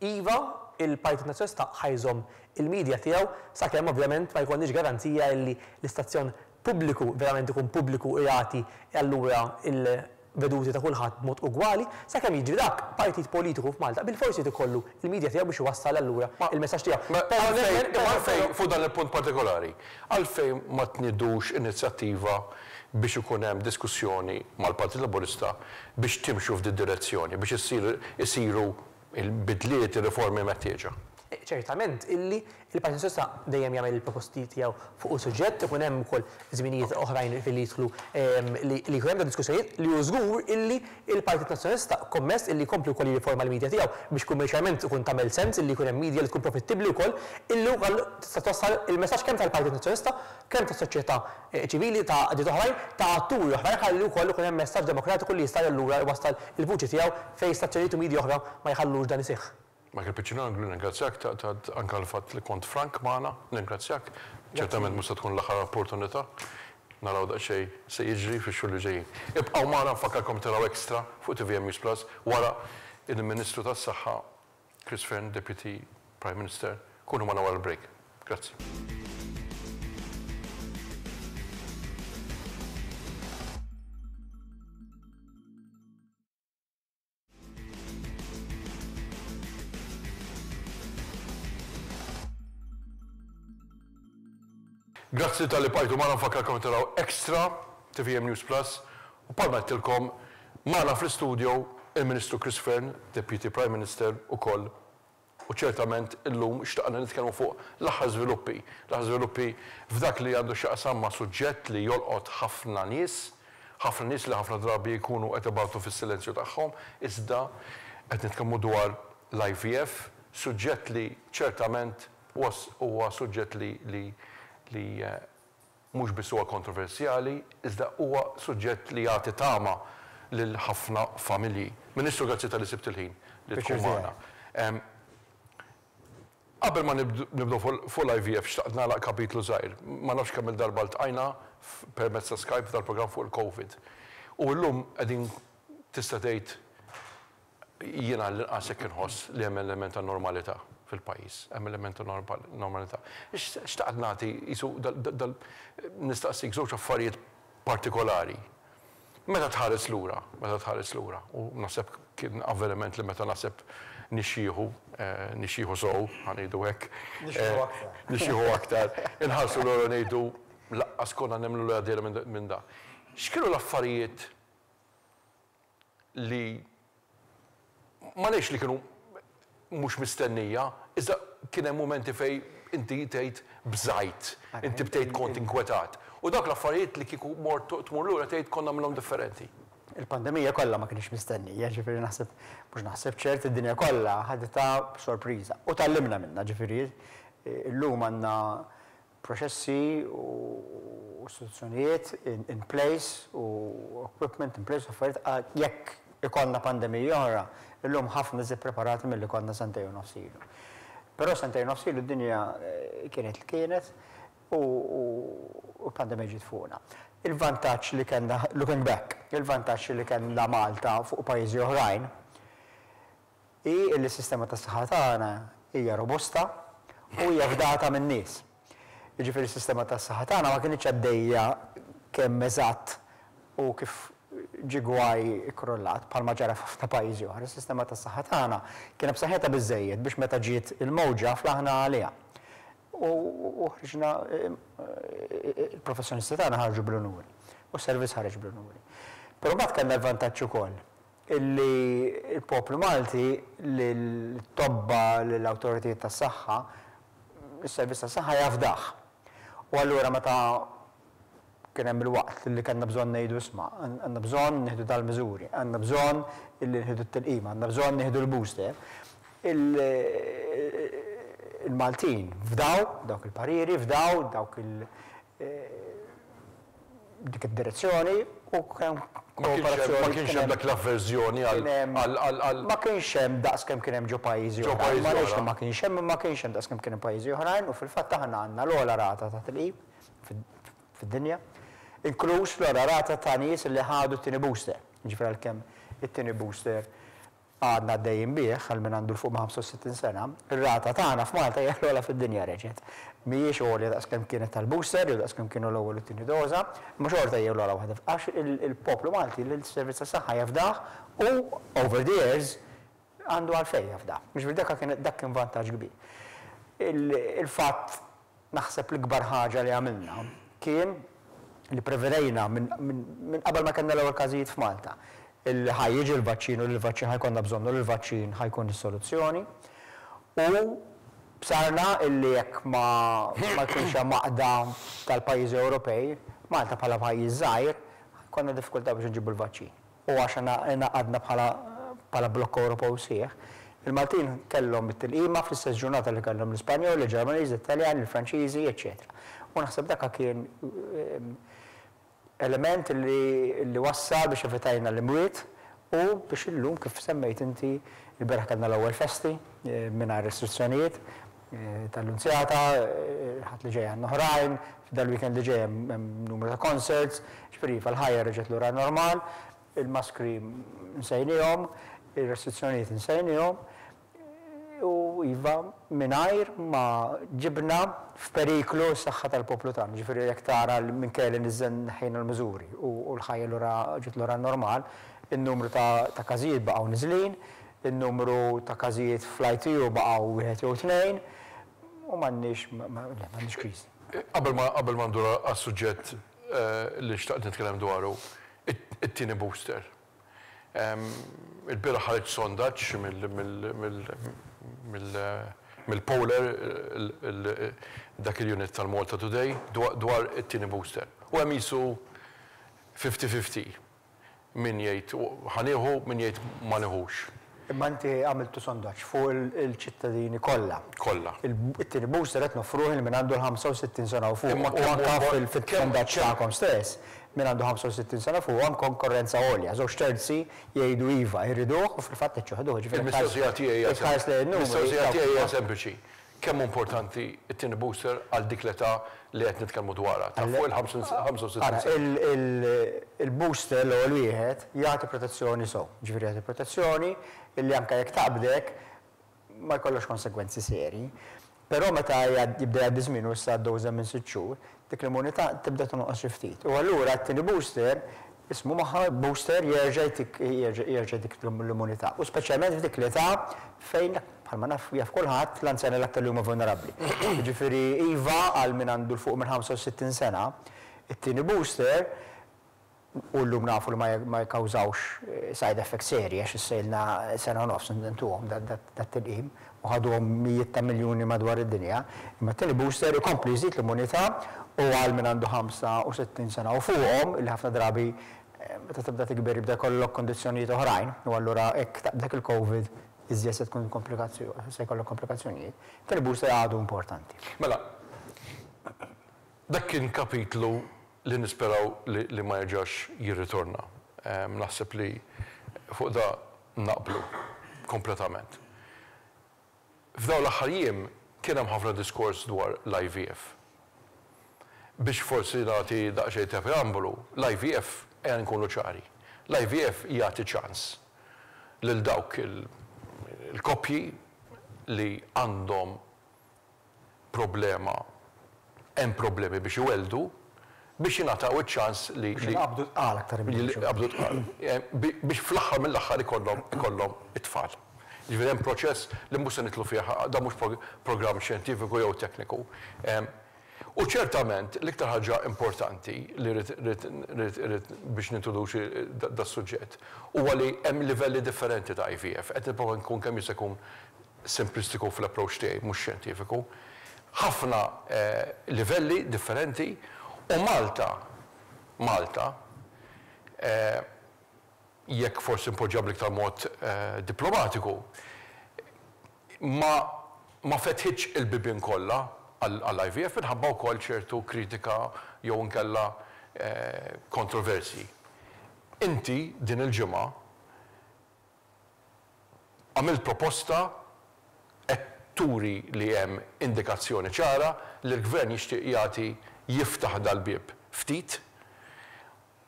Iva, il-Partit Nazzjonalista ħa jżomm il-media tiegħu sakemm ovvjament ma jkollniex garanzija illi l-istazzjon pubbliku verament ikun pubbliku u jagħti allura l-veduti ta' kulħadd b'mod ugwali. Sakemm jiġri dak, partit politiku f'Malta bilfors irid ikollu l-media tiegħu biex iwassal allura l-messaġġ tiegħu. Ma għalfejn, imma għalfejn fuq dan il-punt partikolari, għalfejn ma tnidux inizjattiva biex ikun hemm diskussjoni mal-Partit Laburista biex timxu f'did-direzzjoni, biex issir isiru il-bidliet, ir-riformi meħtieġa. Ċertament illi l-Partit Nazzjonalista dejjem jagħmel il-proposti tiegħu fuq is-suġġett, ikun hemm ukoll żminijiet oħrajn fejn li jidħlu li jkun hemm diskussjonijiet li hu żgur illi l-Partit Nazzjonalista kommess illi jkompli wkoll jirriforma l-media tiegħu biex kummerċjalment ikun tagħmel sens illi jkun hemm media li tkun profittibbli wkoll illi wkoll tista' twassal il-messaġġ kemm tal-Partit Nazzjonalista kemm tas-soċjetà ċivili, ta' għaqdiet oħrajn, ta' atturi oħrajn ħalli wkoll ikun hemm messaġġ demokratiku li jista' allura jwassal il-vuċi tiegħu fejn stazzjonijiet u media oħra ma jħallux dan iseħħ. Michael Piccinino nirringrazzjak ta' ta' anke għall-fatt li kont frank magħna, nirringrazzjak. Ċertament mhux se tkun l-aħħar opportunità. Naraw daqsxejn se jiġri fix-xhur li ġejjin. Ibqgħu magħna nfakkarkom taraw Extra fuq tvm News Plus wara il-Ministru tas-Saħħa Chris Fearne, Deputy Prime Minister, kunu magħna wara l-break. Grazzi. Grazzi talli bqajtu magħna nfakkarkom taraw Extra tvm News Plus u bħalma għedtilkom magħna fl-istudio il-Ministru Chris Fearne, Deputy Prime Minister ukoll u ċertament illum xtaqna nitkellmu fuq l-aħħar żviluppi, l-aħħar żviluppi f'dak li għandu x'jaqsam ma' suġġett li jolqot ħafna nies, ħafna nies li ħafna drabi jkunu qed ibatu fis-silenzju tagħhom, iżda qed nitkellmu dwar l-IVF, suġġett li ċertament huwa huwa suġġett li li li mhux biss huwa kontroversjali, iżda huwa suġġett li jagħti tama lil ħafna familji. Ministru grazzi talli sibt il-ħin li tkun magħna. Qabel ma nibdew fuq l-IVF xtaqt nagħlaq kapitlu żgħir. Ma nafx kemm-il darba ltqajna permezz ta' Skype f'dal-programm fuq il-Covid. U llum qegħdin tista' tgħid Jiena għall-inqas hekk inħoss li hemm element ta' normalità fil-pajjiż, hemm element ta' normalità. Xtaqt nagħti qisu dal nistaqsik żewġ affarijiet partikolari. Meta tħares lura, meta tħares lura, u naħseb kien avveniment li meta naħseb nixjieħu, nixjieħu sew, ħa ngħidu hekk. Nixjieħu aktar. Nixjieħu aktar. Inħarsu lura u ngħidu laqqas konna nemmnu li għaddejna minn da. X'kienu l-affarijiet li ma ngħidx li kienu mhux mistennija, iżda kien hemm mumenti fejn inti tgħid bżajt, inti bdejt kont inkwetat. U dawk l-affarijiet li kieku mort tmur lura tgħid kont nagħmilhom differenti. Il-pandemija kollha ma kinitx mistennija, ġifieri naħseb, mhux naħseb ċert id-dinja kollha ħaditha b'sorpriża. U tgħallimna minnha, ġifieri llum għandna proċessi u istituzzjonijiet in place u equipment in place u affarijiet jekk. ikollna pandemija oħra, illum ħafna iżjed preparati milli konna sentejn u nofs ilu. Però sentejn u nofs ilu d-dinja kienet li kienet u l-pandemija ġiet fuqna. Il-vantaġġ li kellna, looking back, il-vantaġġ li kellna Malta fuq pajjiżi oħrajn hi li s-sistema tas-saħħa tagħna hija robusta u hija fdata min-nies. Jiġifieri s-sistema tas-saħħa tagħna ma kinitx għaddejja kemm eżatt u kif ġie gwaj ikkrollat, bħalma ġara f'ħafna pajjiżi oħra. Is-sistema tas-saħħa tagħna kienet b'saħħitha biżżejjed biex meta ġiet il-mowġa flaħna għaliha. U ħriġna, il-professjonisti tagħna ħarġu bl-unuri u s-servizz ħareġ bl-unuri. Però mbagħad kellna l-vantaġġ ukoll illi l-poplu Malti lill-tobba, lill-awtoritajiet tas-saħħa, is-servizz tas-saħħa jafdah. U allura meta kien hemm il-waqt li kellna bżonn ngħidu isma' għandna bżonn nieħdu dal-miżuri, għandna bżonn illi nieħdu t-tilqima, għandna bżonn nieħdu l-booster, il-Maltin fdaw dawk il-pariri, fdaw dawk il dik id-direzzjoni u kien hemm kooperazzjoni. Ma kienx hemm dak l-avverżjoni għal. Ma kienx hemm daqs kemm kien hemm ġo pajjiżi oħrajn. Ma ngħidx li ma kienx hemm, imma ma kienx hemm daqs kemm kien hemm pajjiżi oħrajn u fil-fatt aħna għandna l-ogħla rata ta' tilqim fid-dinja, inkluż l-ogħla rata ta' nies li ħadu t-tieni booster. Jiġifieri għalkemm it-tieni booster għadna għaddejjin bih, għal min għandu 'l fuq minn 65 sena, ir-rata tagħna f'Malta hija l-ogħla fid-dinja reġgħet. Mhijiex għolja daqs kemm kienet tal-booster jew daqs kemm kienu l-ewwel u t-tieni doża, imma xorta hija l-ogħla waħda għax il-poplu Malti lis-servizz tas-saħħa jafdah u over the years għandu għalfejn jafdah. Jiġifieri dak kien dak kien vantaġġ kbir. Il-fatt Naħseb l-ikbar ħaġa li għamilna kien li prevedejna minn qabel ma kellna l-ewwel każijiet f'Malta illi ħa jiġi l-vaċċin u li l-vaċċin ħa jkollna bżonnu u li l-vaċċin ħa jkun is-soluzzjoni u bsarna illi jekk ma ma jkunx hemm għaqda tal-pajjiżi Ewropej, Malta bħala pajjiż żgħir ħa jkollna diffikultà biex inġibu l-vaċċin. u għax ingħaqadna bħala bħala blokk Ewropew sħiħ, il-Maltin kellhom it-tilqima fl-istess ġurnata li kellhom l-Ispanjoli, il-Ġermaniżi, it-Taljani, il-Franċiżi, eċċetera. U naħseb dak kien element li li wassal biex evitajna l-imwiet u biex illum kif semmejt inti, ilbieraħ kellna l-ewwel festi mingħajr restrizzjonijiet, tal-Lunzjata, il-Ħadd li ġej għandna oħrajn, dal-weekend li ġej hemm numru ta' concerts, ġifieri iva l-ħajja reġgħet lura normal, il-maskri nsejniehom, ir-restrizzjonijiet insejniehom u iva mingħajr ma ġibna f'periklu s-saħħa tal-poplu tagħna. Ġifieri jekk tara li minkejja li niżżel neħħejna l-miżuri u l-ħajja lura ġiet lura normal, in-numru ta' każijiet baqgħu niżlin, In-numru ta' każijiet fl-ITU baqgħu wieħed jew tnejn u m'għandniex, le, m'għandniex kriżi. Qabel ma qabel ma ndur għas-suġġett li xtaqt nitkellem dwaru, it-tieni booster. Il-bieraħ ħareġ sondaġġ mill-Polar, dak il-unit tal-Malta Today, dwar it-tieni booster. U hemm qisu fifty-fifty. Min jgħid ħa nieħu, min jgħid ma nieħux. Imma inti għamiltu sondaġġ fuq il-ċittadini kollha. Kollha. It-tieni booster qed noffruh lil min għandu l-65 sena u fuq. U anke fis-sondaġġ tagħkom stess, min għandu 65 sena fuq hemm konkorrenza għolja. Żewġ terzi jgħidu iva, jriduh u fil-fatt qed joħduh. Jiġifieri Il-mistoqsija tiegħi hija tħares lejn in-numri. Il-mistoqsija tiegħi hija sempliċi. Kemm hu importanti t-tieni booster għal dik l-età li qed nitkellmu dwarha, ta' fuq il-65 sena? Ara, il-booster, l-ewwel wieħed, jagħti protezzjoni sew. Jiġifieri jagħti protezzjoni illi anke jekk taqbdek ma jkollokx konsegwenzi serji. Però meta jibda jgħaddi ż-żmien u issa għaddew iżjed minn sitt xhur, dik l-immunità tibda tonqos xi ftit. U allura t-tieni booster, ismu magħha, booster, jerġa' jtik jerġa' jtik l-immunità. U speċjalment f'dik l-età fejn Bħalma naf, jaf kulħadd, l-anzjani l-aktar li huma vulnerabbli. Jiġifieri iva għal min għandu 'l fuq minn 65 sena, it-tieni booster, u llum nafu li ma jikkawżawx side effects serji għax issa ilna sena u nofs ntuhom dat-tilqim u ħaduhom mijiet ta' miljuni madwar id-dinja, imma t-tieni booster ikompli jżid l-immunità u għal min għandu 65 sena u fuqhom, li ħafna drabi meta tibda tikber jibda jkollok kundizzjonijiet oħrajn u allura hekk taqbdek il-Covid iżjed se tkun komplikazzjoni, se jkollok komplikazzjonijiet. It-tieni booster għadu importanti. Mela, dak kien kapitlu li nisperaw li ma jerġax jirritorna. Naħseb li Fuq da naqblu kompletament. F'dawn l-aħħar jiem kien hemm ħafna diskors dwar l-IVF. Biex forsi nagħti daqsxejn ta' preambolu, l-IVF, ejja nkunu ċari, l-IVF jagħti ċans lil dawk il-koppji li għandhom problema, hemm problemi biex iwelldu, biex jingħataw iċ-ċans li. Biex inqabdu tqal aktar milli biex. Inqabdu tqal. Biex fl-aħħar mill-aħħar ikollhom ikollhom it-tfal. Jiġifieri hemm proċess li mhux se nidħlu fih, dan mhux programm xjentifiku jew tekniku. U ċertament l-iktar ħaġa importanti li rrid rrid rrid rrid biex nintroduċi das-suġġett huwa li hemm livelli differenti ta' IVF. Qed nipprova nkun kemm jista' jkun simplistiku fl-approach tiegħi, mhux xjentifiku. Ħafna livelli differenti u Malta, Malta, jekk forsi npoġġiha bl-iktar mod diplomatiku, ma ma fetħitx il-bibien kollha għall-IVF minħabba wkoll ċertu kritika jew inkella kontroversji. Inti din il-ġimgħa Għamilt proposta, qed turi li hemm indikazzjoni ċara li l-Gvern jixtieq jagħti jiftaħ dal-bieb ftit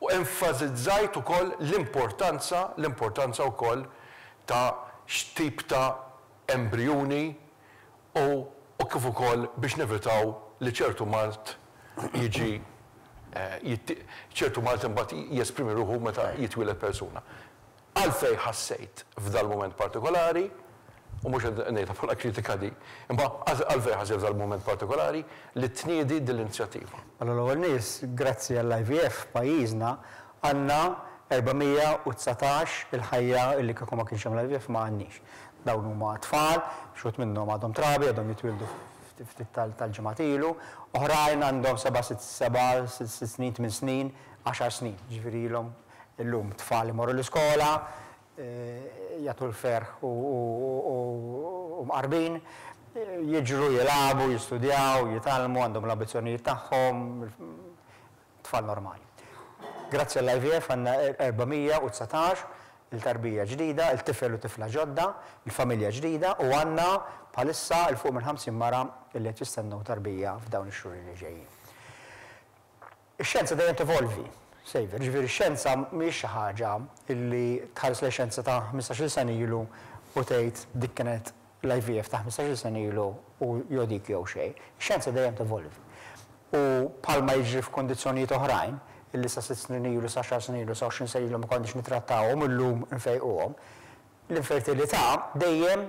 u enfasizzajt ukoll l-importanza l-importanza wkoll ta' x'tip ta' embrijuni u u kif ukoll biex nevitaw li ċertu mard jiġi ċertu mard imbagħad jesprimi ruħu meta jitwieled persuna. Għalfejn ħassejt f'dal-mument partikolari, u mhux qed ngħidha bħala kritika di, imma għalfejn ħassejt f'dal-mument partikolari li tniedi din l-inizjattiva? Mela l-ewwel nies, grazzi għall-IVF f'pajjiżna għandna 419 il-ħajja li kieku ma kienx hemm l-IVF ma għandniex. Dawn huma tfal, xi wħud minnhom għadhom trabi, għadhom jitwieldu ftit tal-ġimgħat ilu, oħrajn għandhom seba' sitt seba' sitt snin, tmien snin, għaxar snin, jiġifieri ilhom Illum tfal imorru l-iskola, jagħtu l-ferħ u mqarbin, jiġru, jilagħbu, jistudjaw, jitgħallmu, għandhom l-ambizzjonijiet tagħhom, tfal normali. Grazzi għall-IVF għandna 419 il-tarbija ġdida, il-tifel u tifla ġodda, il-familja ġdida u għandna bħalissa 'l fuq minn 50 mara li qed jistennew tarbija f'dawn ix-xhur li ġejjin. Ix-xjenza dejjem tevolvi, Saviour, jiġifieri x-xjenza mhijiex xi ħaġa li tħares lejn xjenza ta' ħmistax-il sena ilu u tgħid dik kienet l-IVF ta' ħmistax-il sena ilu u jew dik jew xejn. Ix-xjenza dejjem tevolvi. U bħalma jiġri f'kundizzjonijiet oħrajn illi sa sitt snin ilu, sa għaxar snin ilu, sa 20 sena ilu ma konniex nittrattawhom u llum infejquhom, l-infertilità dejjem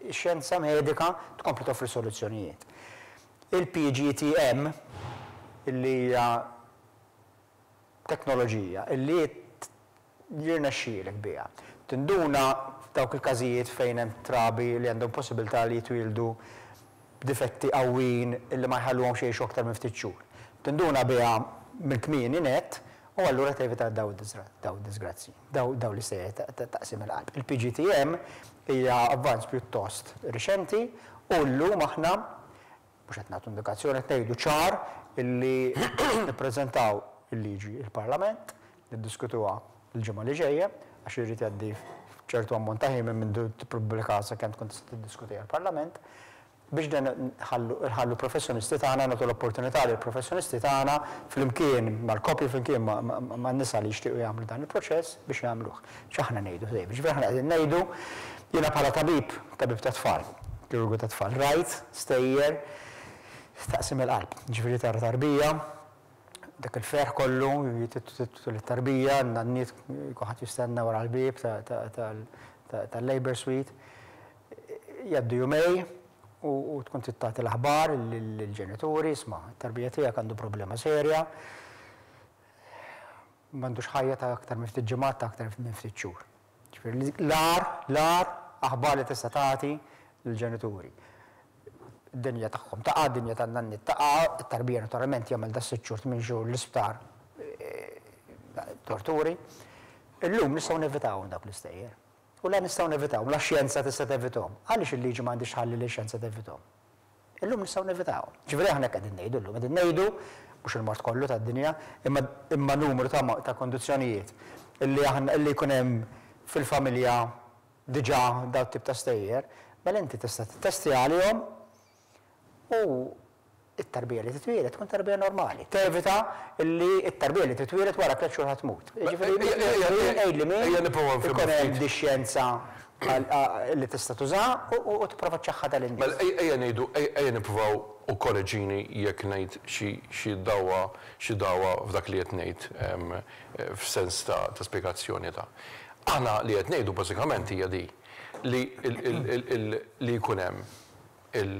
ix-xjenza medika tkompli toffri soluzzjonijiet. Il-PGTM, illi hija teknoloġija illi jirnexxielek biha tinduna f'dawk il-każijiet fejn hemm trabi li għandhom possibilità li jitwieldu b'difetti qawwijin illi ma jħalluhomx jgħixu aktar minn ftit xhur. Tinduna biha minn kmieni nett u allura tevita dawn id-diżgrazzji, dawn l-istejjer ta' taqsim il-qalb. Il-PGTM hija avvanz pjuttost riċenti u llum aħna mhux qed nagħtu indikazzjoni, qed ngħidu ċar illi nippreżentaw il-liġi il-Parlament, niddiskutuha l-ġimgħa li ġejja, għax irid jgħaddi ċertu ammont ta' ħin minn mindu tippubblika sakemm tkun tista' tiddiskutiha l-Parlament, biex dan nħallu professjonisti tagħna, nagħtu l-opportunità lill-professjonisti tagħna flimkien mal-koppji, flimkien man-nisa li jixtiequ jagħmlu dan il-proċess biex jagħmluh. X'aħna ngħidu dejjem? Jiġifieri aħna qegħdin ngħidu, jiena bħala tabib, tabib tat-tfal, kirurgu tat-tfal, rajt stejjer taqsim il-qalb. Jiġifieri tara tarbija, dak il-ferħ kollu, tul it-tarbija, n-nanniet kulħadd jistenna wara l-bieb tal-labour suite. Jgħaddu jumej u tkun trid tagħti l-aħbar lill-ġenituri, isma' t-tarbija tiegħek għandu problema serja, m'għandux ħajja ta' aktar minn ftit ġimgħat, ta' aktar minn ftit xhur. Ġifieri l-agħar, l-agħar aħbar li tista' tagħti lill-ġenituri. Id-dinja tagħhom taqa', id-dinja tan-nanniet taqa', it-tarbija naturalment jagħmel da sitt xhur, tmien xhur l-isptar torturi. Illum nistgħu nevitawhom dawk l-istejjer. U la nistgħu nevitawhom, la x-xjenza tista' tevithom. Għaliex il-liġi ma għandhiex tħalli lix-xjenza tevithom? Illum nistgħu nevitawhom. Ġifieri aħna hekk qegħdin ngħidu llum, qegħdin ngħidu, mhux il-mard kollu tad-dinja, imma imma numru ta' ta' kundizzjonijiet illi aħna illi jkun hemm. fil-familja diġà dawn it-tip ta' stejjer, mela inti tista' tittestja għalihom u t-tarbija li titwieled tkun tarbija normali. Tevita li t-tarbija li titwieled wara tlett xhur ħa tmut. Jiġifieri għidli min ikun hemm di xjenza li tista' tuża u tipprova ċċaħħadha lin-nies. Mela ejja ngħidu, ejja nippruvaw u korreġini jekk ngħid xi dagħwa xi dagħwa f'dak li qed ngħid f'sens ta' spjegazzjoni ta'. Aħna li qed ngħidu bażikament hija di li li jkun hemm il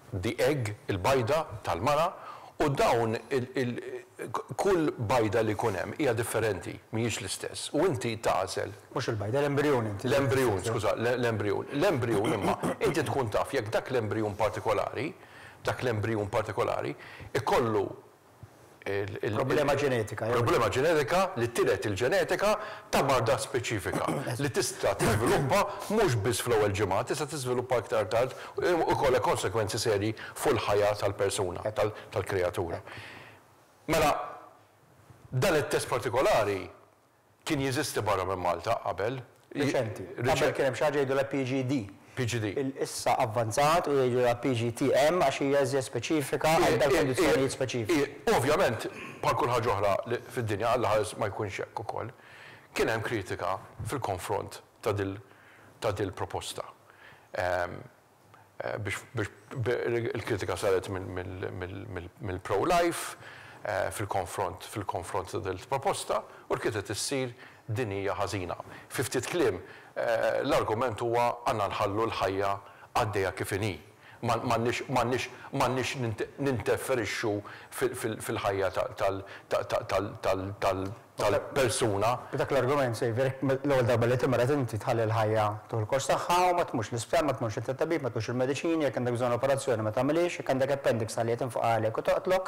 the egg, il-bajda tal-mara, u dawn il kull bajda li jkun hemm hija differenti, mhijiex l-istess. U inti tagħżel. Mhux il-bajda, l-embrijun inti. L-embrijun, skuża, l-embrijun. L-embrijun imma inti tkun taf jekk dak l-embrijun partikolari, dak l-embrijun partikolari, ikollu Problema ġenetika. Problema ġenetika li tiret il-ġenetika ta' marda speċifika li tista' tiżviluppa mhux biss fl-ewwel ġimgħa, tista' tiżviluppa iktar tard u jkollha konsegwenzi serji fuq il-ħajja tal-persuna, tal-kreatura. Mela, dan it-test partikolari kien jeżisti barra minn Malta qabel. Riċenti. Qabel kien hemm xi ħaġa jgħidulha PGD. PGD. Issa avvanzat u jgħidulha PGTM għax hija iżjed speċifika għal dawk kundizzjonijiet speċifiċi. Ovvjament, bħal kull ħaġa oħra fid-dinja, Alla ħares ma jkunx hekk ukoll, kien hemm kritika fil-konfront ta' dil-proposta. Biex il-kritika saret mill-pro-life fil-konfront fil-konfront ta' dil-proposta u l-kritika issir din hija ħażina. Fi ftit kliem, l-argument huwa għandna nħallu l-ħajja għaddejja kif inhi. M'għandniex m'għandniex m'għandniex ninterferixxu fil-ħajja tal-persuna. B'dak l-argument, Xavier, jekk l-ewwel darba li timrad inti tħalli l-ħajja tieħu l-kors tagħha u ma tmurx l-isptar, ma tmurx għand it-tabib, ma tieħux il-mediċini, jekk għandek bżonn operazzjoni ma tagħmilhiex, jekk għandek appendix tħalliha tinfaqa' għalek u toqtlok.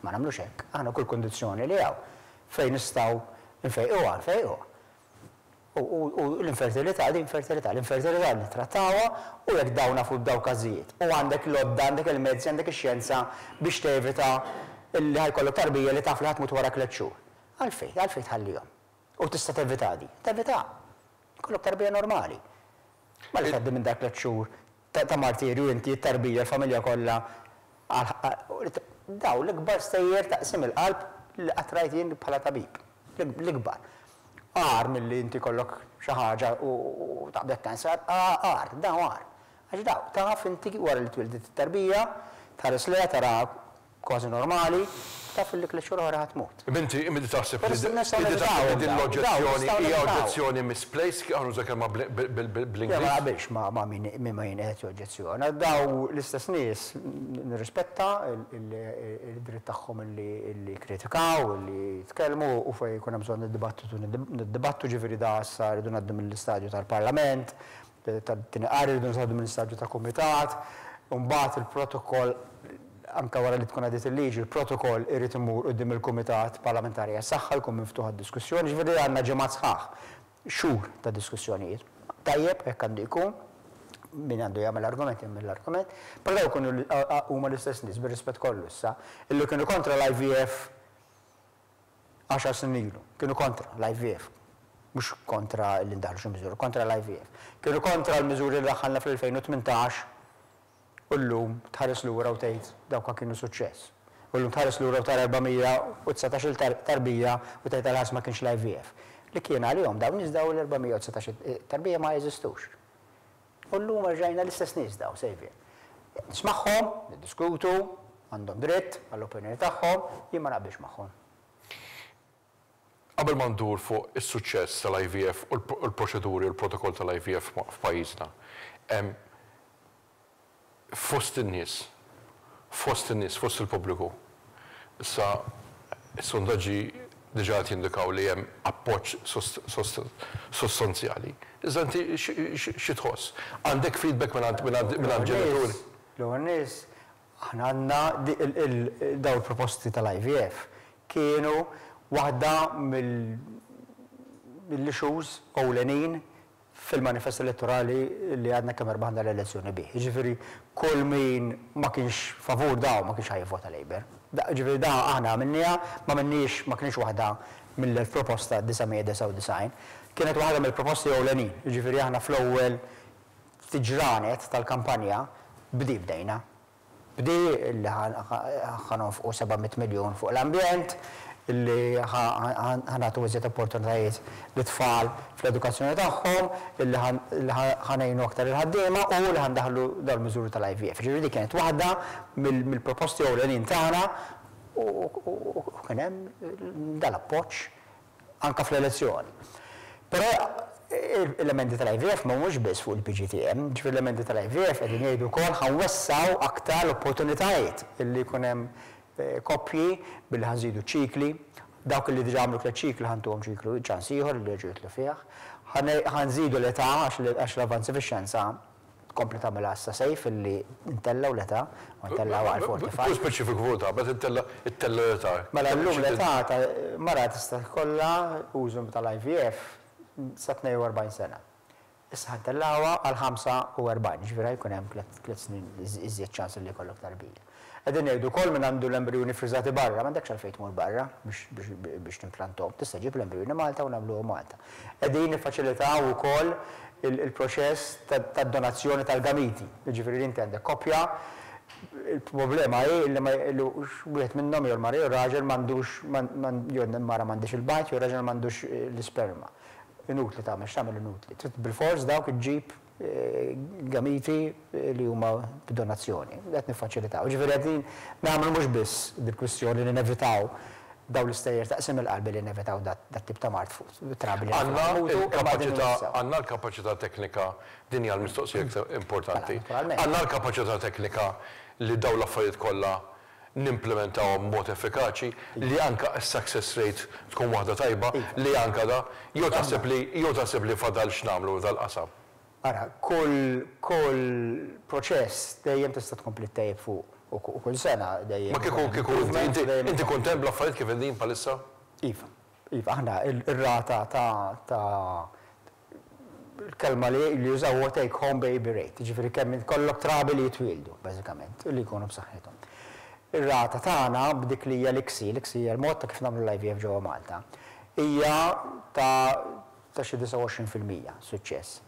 Ma nagħmlux hekk. Aħna kull kundizzjoni li hawn fejn nistgħu nfejquha, nfejquha. U l-infertilità, din infertilità, l-infertilità nittrattawha u jekk dawn nafu b'dawn każijiet. U għandek l-għodda, għandek il-mezzi, għandek ix-xjenza biex tevita li ħa jkollok tarbija li taf li ħa tmut wara tlett xhur. Għalfejn? Għalfejn tħallihom? U tista' tevita di. Tevita. Jkollok tarbija normali. Ma li tgħaddi minn dak tlett xhur ta' martirju inti, it-tarbija, il-familja kollha. Dawn l-ikbar stejjer ta' qsim il-qalb li qatt rajt jien bħala tabib. L-ikbar. Agħar milli inti jkollok xi ħaġa u taqbdek cancer, agħar, dawn agħar. Għax dawn, taf inti wara li twildet it-tarbija, tħares lejha taraha kważi normali, taf li tliet xhur oħra ħa tmut. Imma inti imma inti taħseb li inti taħseb li din l-oġġezzjoni hija oġġezzjoni misplaced, aħna nuża kelma bl-Ingliż. Le ma naqbilx ma' min ma' min qed joġġezzjona. Dawn l-istess nies nirrispetta l-dritt tagħhom li jikkritikaw, li jitkellmu u fejn ikun hemm bżonn niddibattitu niddibattu, ġifieri da issa rridu ngħaddu mill-istadju tal-Parlament, tat-tieni qari rridu ngħaddu mill-istadju ta' kumitat, u mbagħad il-protokoll anke wara li tkun għaddiet il-liġi, il-protokoll irid imur quddiem il-Kumitat Parlamentari għas-Saħħa jkun miftuħ għad-diskussjoni, ġifieri għandna ġimgħat sħaħ, xhur ta' diskussjonijiet. Tajjeb, hekk għandu jkun, min għandu jagħmel argument jagħmel l-argument, però dawn ikunu huma l-istess nies, bir-rispett kollu issa, illi kienu kontra l-IVF għaxar snin ilu, kienu kontra l-IVF, mhux kontra li ndaħħlu xi miżuri, kontra l-IVF. Kienu kontra l-miżuri li daħħalna fl-2018 u llum tħares lura u tgħid dawk kienu suċċess. U llum tħares lura u tara 419-il tarbija u tgħid għal ħares ma kienx l-IVF. Li kien għalihom dawn nies dawn l-419 tarbija ma jeżistux. U llum erġajna l-istess nies dawn, Saviour. Nismagħhom, niddiskutu, għandhom dritt għall-opinjoni tagħhom, jien ma naqbilx magħhom. Qabel ma ndur fuq is-suċċess tal-IVF u l-proċeduri u l-protokoll tal-IVF f'pajjiżna, fost in-nies, fost in-nies, fost il-pubbliku, issa s-sondaġġi diġà qed jindikaw li hemm appoġġ sostanzjali. Iżda inti xi tħoss? Għandek feedback mingħand ġenituri? L-ewwel nies, aħna għandna dawn il-proposti tal-IVF kienu waħda mill-issues ewlenin fil-manifest elettorali li għadna kemm erbaħna l-elezzjoni bih. Jiġifieri kull min ma kienx favur dawn ma kienx ħa jivvota Labour. Jiġifieri da aħna għamilniha, ma għamilniex, ma kinitx waħda mill-1000 proposta 999. Kienet waħda mill-proposti ewlenin, jiġifieri aħna fl-ewwel ftit ġranet tal-kampanja bdi bdejna. Bdi li ħa nonfqu 700 miljun fuq l-ambjent, li ħa nagħtu iżjed opportunitajiet lit-tfal fl-edukazzjoni tagħhom, li ħa ngħinu aktar il-ħaddiema u li ħa ndaħħlu dawn il-miżuri tal-IVF. Jiġifieri dik kienet waħda mill-proposti ewlenin tagħna u kien hemm dal-appoġġ anke fl-elezzjoni. Però l-emendi tal-IVF ma humiex biss fuq il-PGTM, ġifieri l-emendi tal-IVF qegħdin jgħidu wkoll ħa nwessgħu aktar l-opportunitajiet illi jkun hemm koppji billi ħa nżidu ċ-ċikli, dawk li diġà għamlu tlett ċikli ħa ntuhom ċiklu ċans ieħor li jerġgħu jidħlu fih, ħa nżidu l-età għax l-avvanzi fix-xjenza Tkompli tagħmilha issa safe illi ntellgħu l-età u ntellgħuha għal 45. Kun speċifiku fuq ta' meta ttella' ttella' l-età. Mela llum l-età ta' mara tista' jkollha użu tal-IVF sa 42 sena. Issa ħa ntellgħuha għal 45, jiġifieri ħa jkun hemm tliet snin iżjed ċans illi jkollok tarbija. Qegħdin ngħidu wkoll min għandu l-embrijuni ffriżati barra, m'għandekx għalfejn tmur barra biex timplanthom. Tista' ġġib l-embrijuni Malta u nagħmluhom Malta. Qegħdin niffaċilitaw ukoll il-proċess tad-donazzjoni tal-gamiti. Jiġifieri li inti għandek koppja, il-problema hi li wieħed minnhom jew il-mara jew ir-raġel m'għandux jew il-mara m'għandhiex il-bajd jew ir-raġel m'għandux l-isperma. Inutli tagħmel x'tagħmel inutli. Trid bilfors dawk iġġib gamiti li huma b'donazzjoni. Qed niffaċilitaw. Jiġifieri qegħdin nagħmlu mhux biss dil-kwistjoni li nevitaw dawn l-istejjer ta' qsim il-qalb li nevitaw dat-tip ta' mard fuq trabi li Għandna l-kapaċità, għandna l-kapaċità teknika, din hija l-mistoqsija iktar importanti. Għandna l-kapaċità teknika li dawn l-affarijiet kollha nimplimentawhom b'mod effikaċi, li anke s-success rate tkun waħda tajba, li anke da, jew taħseb li, jew taħseb li fadal x'nagħmlu f'dal-qasam? Ara, kull, kull proċess dejjem tista' tkompli ttejjeb fuq u kull sena dejjem. Ma kieku, kieku inti, inti, inti kuntent bl-affarijiet kif qegħdin bħalissa? Iva, iva, aħna r-rata ta', ta' l-kelma li li jużaw huwa take home baby rate, jiġifieri kemm ikollok trabi li jitwieldu, bażikament, u li jkunu b'saħħithom. Ir-rata tagħna b'dik li hija l-ICSI, l-ICSI hija l-mod ta' kif nagħmlu l-IVF ġewwa Malta, hija ta' ta' xi 29% suċċess.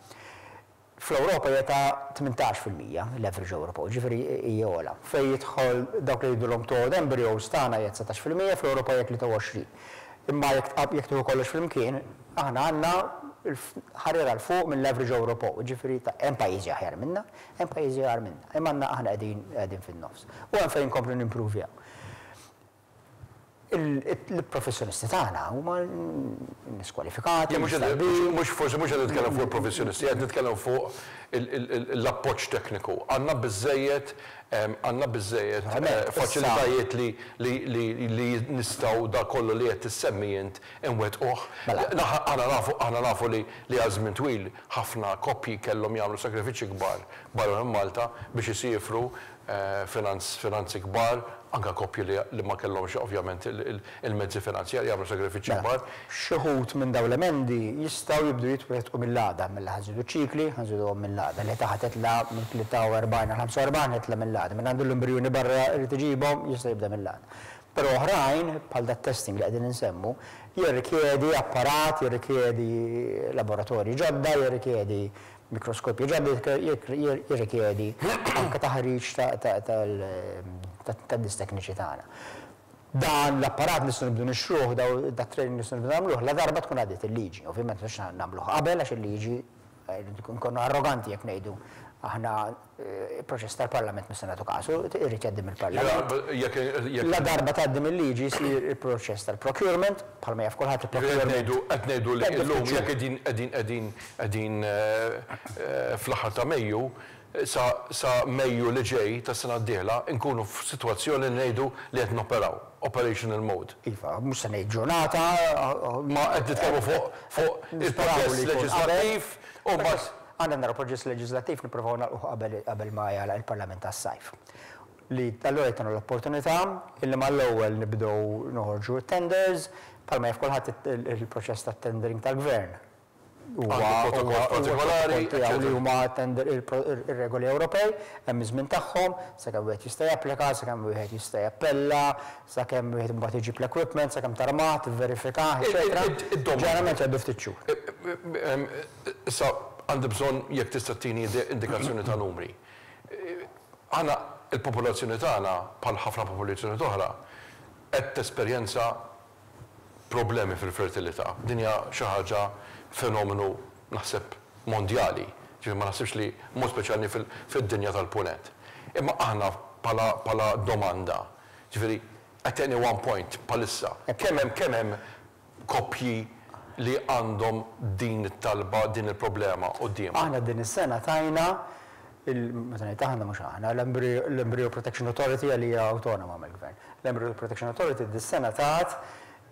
Fl-Ewropa hija ta' 18% l-average Ewropew, jiġifieri hija ogħla. Fejn jidħol dawk li jgħidulhom thawed embryos tagħna hija 19%, fl-Ewropa hija 23. Imma jekk tqab jekk tieħu kollox flimkien, aħna għandna ħarira 'l fuq mill-average Ewropew, jiġifieri ta' hemm pajjiżi aħjar minna, hemm pajjiżi agħar minna, imma għandna aħna qegħdin qegħdin fin-nofs. U hemm fejn inkomplu nimpruvjaw. Il-professjonisti tagħna huma nies kwalifikati, nies tajbin. Mhux forsi mhux qed nitkellem fuq il-professjonisti, qed nitkellem fuq l-appoġġ tekniku. Għandna biżżejjed għandna biżżejjed faċilitajiet li nistgħu dak kollu li qed issemmi int inwettquh. Aħna nafu aħna nafu li għal żmien twil ħafna koppji kellhom jagħmlu sagrifiċċji kbar barra minn Malta biex isiefru finanzi kbar, anke koppji li ma kellhomx ovvjament il-mezzi finanzjarji jagħmlu sagrifiċċji kbar. Xi wħud minn dawn l-emendi jistgħu jibdew jitwettqu mill-għada, mela ħa nżidu ċ-ċikli, ħa nżiduhom mill-għada. L-età ħa titla' minn 43 għal 45 ħa titla' mill-għada. Min għandu l-embrijuni barra jrid iġibhom jista' jibda mill-għada. Però oħrajn, bħal dat-testing li qegħdin insemmu, jirrikjedi apparat, jirrikjedi laboratorji ġodda, jirrikjedi Mikroskopji ġodda jirrikjedi anke taħriġ tan-nies tekniċi tagħna. Dan l-apparat nistgħu nibdew nixtruh, dat-training nistgħu nibdew nagħmluh ladarba tkun għaddiet il-liġi. Ovvjament mhux nagħmluh qabel għax il-liġi nkunu arroganti jekk ngħidu aħna il-proċess tal-Parlament mhux se nagħtu kasu, irid jgħaddi mill-Parlament. Ladarba tgħaddi mil-liġi jsir il-proċess tal-procurement, bħalma jaf kulħadd il-procurement. Qed ngħidu li llum jekk qegħdin qegħdin qegħdin qegħdin fl-aħħar ta' Mejju, sa Mejju li ġej tas-sena d-dieħla nkunu f'sitwazzjoni li ngħidu li qed noperaw, operational mode. Iva, mhux se ngħid ġurnata. Ma qed nitkellmu fuq il-proċess leġislattiv u mbagħad. Għandna naraw proċess leġiżlattiv nippruvaw nagħlquh qabel qabel ma jagħlaq il-Parlament għas-sajf. Li allura jtuna l-opportunità illi mal-ewwel nibdew noħorġu t-tenders, bħalma jaf kulħadd il-proċess tat-tendering tal-Gvern. huwa Għandu protokoll partikolari, tiegħu li huma tender ir-regoli Ewropej, hemm iż-żmien tagħhom, sakemm wieħed jista' japplika, sakemm wieħed jista' jappella, sakemm wieħed imbagħad iġib l-equipment, sakemm tarmah, tivverifikah, eċetera. Ġeneralment jgħaddu ftit xhur. Issa għandi bżonn jekk tista' ttini indikazzjoni ta' numri. Aħna il-popolazzjoni tagħna bħal ħafna popolazzjonijiet oħra qed tesperjenza problemi fil-fertilità. Din hija xi ħaġa fenomenu naħseb mondjali, ġifieri ma naħsibx li mod speċjali fid-dinja tal-Punent. Imma aħna bħala bħala domanda, ġifieri at any one point bħalissa, kemm hemm kemm hemm koppji li għandhom din it-talba, din il-problema quddiemhom? Aħna din is-sena tajna, meta ngħid aħna mhux aħna, l-Embryo Protection Authority li hija awtonoma mill-Gvern. L-Embryo Protection Authority dis-sena tat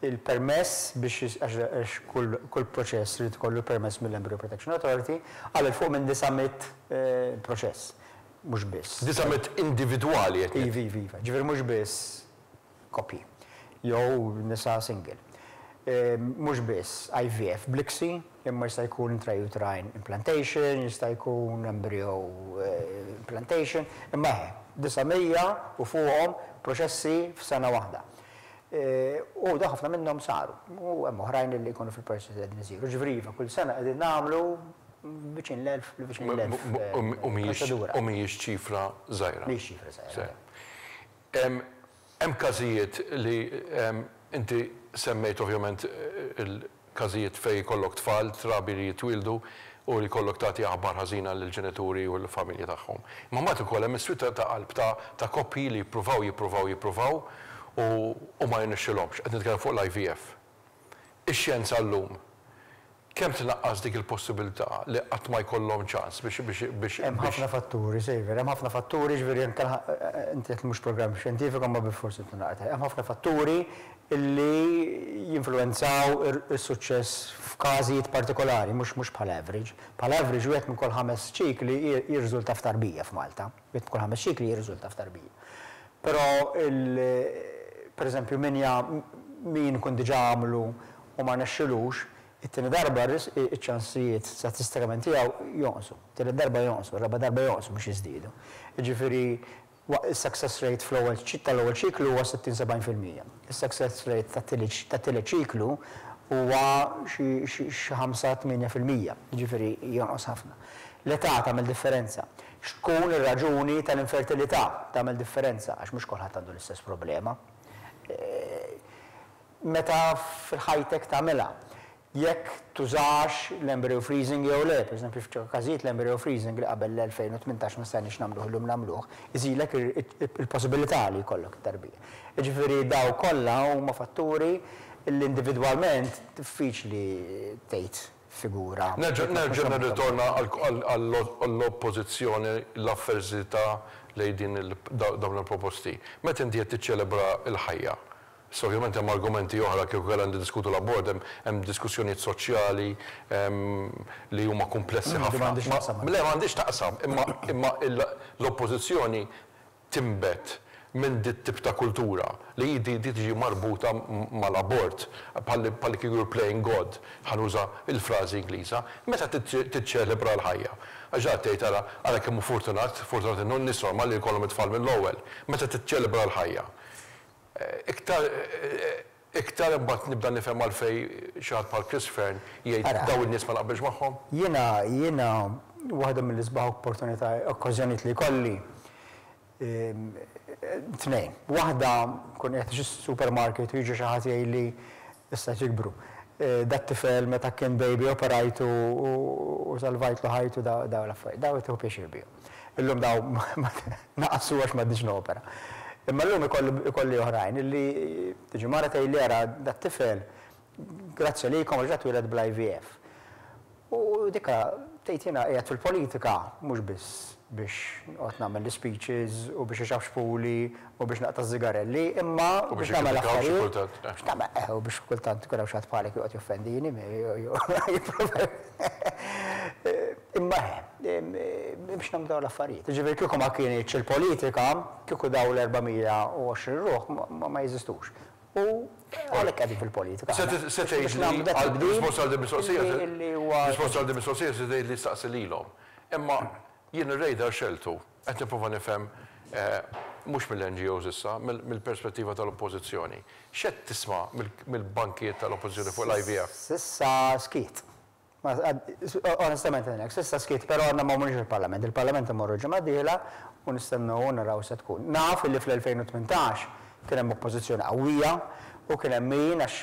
il-permess biex, għax kull proċess irid ikollu permess mill-Embryo Protection Authority, għal 'il fuq minn 900 proċess. Mhux biss. 900 individwali qed ngħid. Iva, iva, iva. Ġifieri mhux biss koppji jew nisa single. Mhux biss IVF bl-ICSI, imma jista' jkun intrauterine implantation, jista' jkun embryo implantation, imma eħe, 900 u fuqhom proċessi f'sena waħda. U dawn ħafna minnhom saru. U hemm oħrajn li jkunu fil-proċess li qegħdin isiru. Ġifieri iva, kull sena qegħdin nagħmlu viċin l-1000, viċin l-1000 proċedura. U mhijiex ċifra żgħira. Mhijiex ċifra żgħira. Hemm każijiet li inti semmejt ovvjament il-każijiet fejn ikollok tfal, trabi li jitwieldu u li jkollok tagħti aħbar ħażina lill-ġenituri u l-familji tagħhom. Imma mbagħad ukoll hemm is-swied ta' qalb ta' koppji li jippruvaw, jippruvaw, jippruvaw u ma jirnexxilhomx. Qed nitkellem fuq l-IVF. Ix-xjenza llum kemm tnaqqas dik il-possibilità li qatt ma jkollhom ċans biex biex biex Hemm ħafna fatturi, Xavier, hemm ħafna fatturi, ġifieri anke inti għedt li mhux programm xjentifiku imma bilfors irid naqra. Hemm ħafna fatturi li jinfluwenzaw is-suċċess f'każijiet partikolari, mhux mhux bħala average. Bħala average wieħed minn kull ħames ċikli jirriżulta f'tarbija f'Malta. Wieħed minn kull ħames ċikli jirriżulta f'tarbija. Però il pereżempju min min ikun diġà għamlu u ma rnexxilux, it-tieni darba iċ-ċansijiet statistikament tiegħu jonqsu. It-tielet darba jonqsu, ir-raba' darba jonqsu mhux jiżdiedu. Jiġifieri is-success rate fl-ewwel tal-ewwel ċiklu huwa 60-70%. Is-success rate tat-tielet ċiklu huwa xi 5-8%, jiġifieri jonqos ħafna. L-età tagħmel differenza. X'tkun ir-raġuni tal-infertilità tagħmel differenza għax mhux kulħadd għandu l-istess problema. Meta fil-ħajtek tagħmilha. Jekk tużax l-embryo freezing jew le, pereżempju f'ċertu każijiet l-embryo freezing li qabel l-2018 ma stajniex nagħmluh illum nagħmluh, iżidlek il-possibilità li jkollok it-tarbija. Jiġifieri dawn kollha huma fatturi li individwalment diffiċli tgħid figura. Nerġa' nerġa' nirritorna għall-oppożizzjoni, l-avversità lejn din dawn il-proposti. Meta inti qed tiċċelebra l-ħajja, Issa ovvjament hemm argumenti oħra kieku kellna niddiskutu l-abort hemm hemm diskussjonijiet soċjali li huma kumplessi ħafna. Le m'għandhiex x'taqsam imma imma l-oppożizzjoni tinbet minn dit-tip ta' kultura li hi di tiġi marbuta mal-abort bħal bħal kieku you're playing God, ħa nuża l-frażi Ingliża, meta tiċċelebra l-ħajja. Għax dak tgħid ara ara kemm hu fortunat, fortunat in-nies normali li jkollhom it-tfal mill-ewwel. Meta tiċċelebra l-ħajja. Iktar iktar imbagħad nibda nifhem għalfejn xi ħadd bħal Chris Fearne jgħid dawn in-nies ma naqbilx magħhom. Jiena jiena waħda mill-isbaħ opportunità okkażjonijiet li jkolli tnejn. Waħda nkun qiegħed xi supermarket u jiġi xi ħadd jgħidli issa qed jikbru. Dat-tifel meta kien baby operajtu u salvajtlu ħajtu dawn l-affarijiet. Dawn tieħu pjaċir bihom. Illum dawn naqsu għax m'għadniex nopera. Imma llum ikolli oħrajn illi tiġi mara tgħidli ara dat-tifel grazzi għalikom għax da twieled bl-IVF. U dika tgħid jiena qiegħed fil-politika mhux biss biex noqgħod nagħmel l-ispeeches u biex ixafxfuli u biex naqta' ż-żigarelli, imma biex nagħmel affarijiet. Biex nagħmel, eh, u biex kultant ikun hawn xi ħadd bħalek joqgħod joffendini, jipprova. Imma eh, biex nagħmlu dawn l-affarijiet. Jiġifieri kieku ma kinitx il-politika, kieku dawn l-420 ruħ ma jeżistux. U. Għalhekk qegħdin fil-politika. Se tgħid li risposta għal din mistoqsija risposta għal din mistoqsija se tgħid li staqsi lilhom. Imma jien ir-radar xeltu qed nipprova nifhem mhux mill-NGOs issa, mill-perspettiva tal-Oppożizzjoni. X'qed tisma' mill-bankijiet tal-Oppożizzjoni fuq l-IVF? S'issa skiet. Onestament ngħidlek, s'issa skiet, però għadna ma morniex il-Parlament. Il-Parlament immorru l-ġimgħa d-dieħla u nistennew u naraw se tkun. Naf illi fl-2018 kien hemm oppożizzjoni qawwija u kien hemm min għax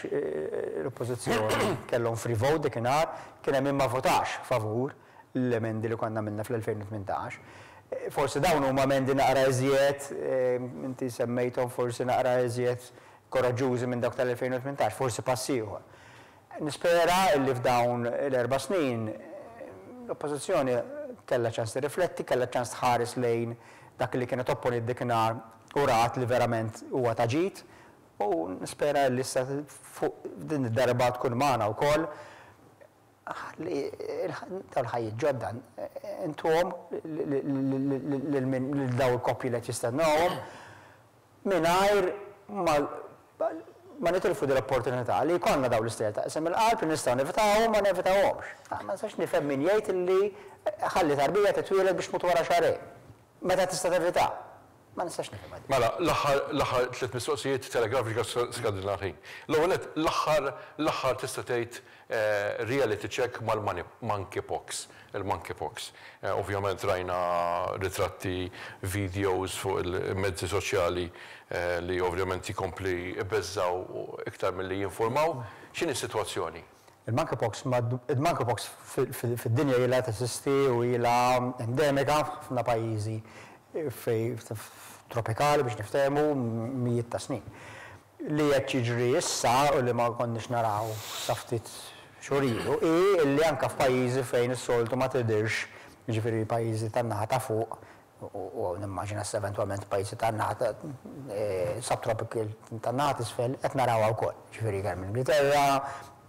l-oppożizzjoni kellhom free vote dakinhar, kien hemm min ma votax favur l-emendi li konna għamilna fl-2018. Forsi dawn huma emendi naqra iżjed, inti semmejthom forsi naqra iżjed koraġġużi minn dawk tal-2018, forsi pass ieħor. Nispera li f'dawn l-erba' snin l-Oppożizzjoni kellha ċans tirrifletti, kellha ċans tħares lejn dak li kienet opponiet dakinhar u rat li verament huwa ta' ġid u nispera li issa fuq din id-darba tkun magħna wkoll ħalli dawn il-ħajjiet ġodda intuhom lil min lil dawn il-koppji li qed jistennewhom mingħajr ma ma nitilfu din l-opportunità li jkollna dawn l-istejjer ta' qsim il-qalb li nistgħu nevitawhom ma nevitawhomx. Ma nistax nifhem min jgħid li ħalli tarbija titwieled biex tmut wara xahrejn. Meta tista' tevitha. Ma nistax nifhimha din. Mela, l-aħħar, l-aħħar tliet mistoqsijiet telegrafiċi għax skadilna l-ħin. L-ewwel nett, l-aħħar, l-aħħar tista' tgħid reality check mal-monkeypox, il-monkeypox. Ovvjament rajna ritratti, videos fuq il-mezzi soċjali li ovvjament jkompli jbeżżgħu iktar milli jinfurmaw. X'inhi s-sitwazzjoni? Il-monkeypox, il-monkeypox fid-dinja ilha teżisti u ilha endemika f'ħafna pajjiżi fej tropikali biex niftehmu mijiet ta' snin. Li qed jiġri issa u li ma konniex naraw sa ftit xhur ilu hi li anke f'pajjiżi fejn is-soltu ma tidhirx, jiġifieri pajjiżi tan-naħa ta' fuq u nimmaġina issa eventwalment pajjiżi tan-naħa ta' subtropical tan-naħa t'isfel qed narawha wkoll, jiġifieri kemm l-Ingilterra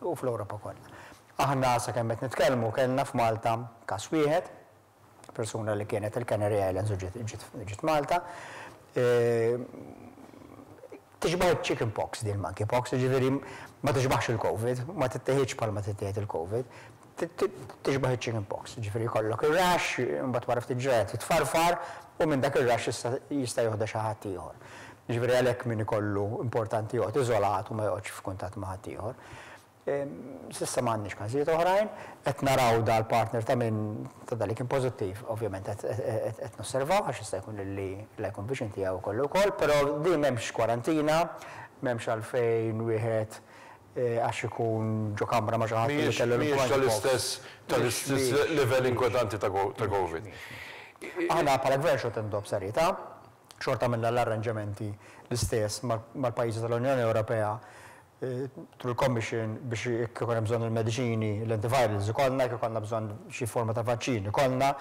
u fl-Ewropa kollha. Aħna sakemm qed nitkellmu kellna f'Malta każ wieħed, persuna li kienet il-Canary Islands u ġiet Malta. Tixbaħ iċ-chicken pox din il-monkeypox, jiġifieri ma tixbaħx il-Covid, ma titteħidx bħalma tittieħed il-Covid. Tixbaħ iċ-chicken pox, jiġifieri jkollok ir-rash, imbagħad wara ftit ġranet titfarfar u minn dak ir-rash jista' joħodha xi ħadd ieħor. Jiġifieri għalhekk min ikollu importanti joqgħod iżolat u ma joqgħodx f'kuntatt ma' ħaddieħor. S'issa ma għandniex każijiet oħrajn. Qed naraw dal-partner ta' min ta' dak li kien pożittiv, ovvjament qed nosservaw għax jista' jkun li la jkun viċin tiegħu jkollu wkoll, però din m'hemmx kwarantina, m'hemmx għalfejn wieħed għax ikun ġo kamra ma' xi ħadd li kellu l-influenza. Mhijiex tal-istess tal-istess livell inkwetanti ta' Covid. Aħna bħala Gvern xorta nieħduha b'serjetà, xorta għamilna l-arranġamenti l-istess mal-pajjiżi tal-Unjoni Ewropea through l-Commission biex jekk ikun hemm bżonn il-mediċini, l-antivirals ikollna, jekk ikollna bżonn xi forma ta' vaċċin ikollna,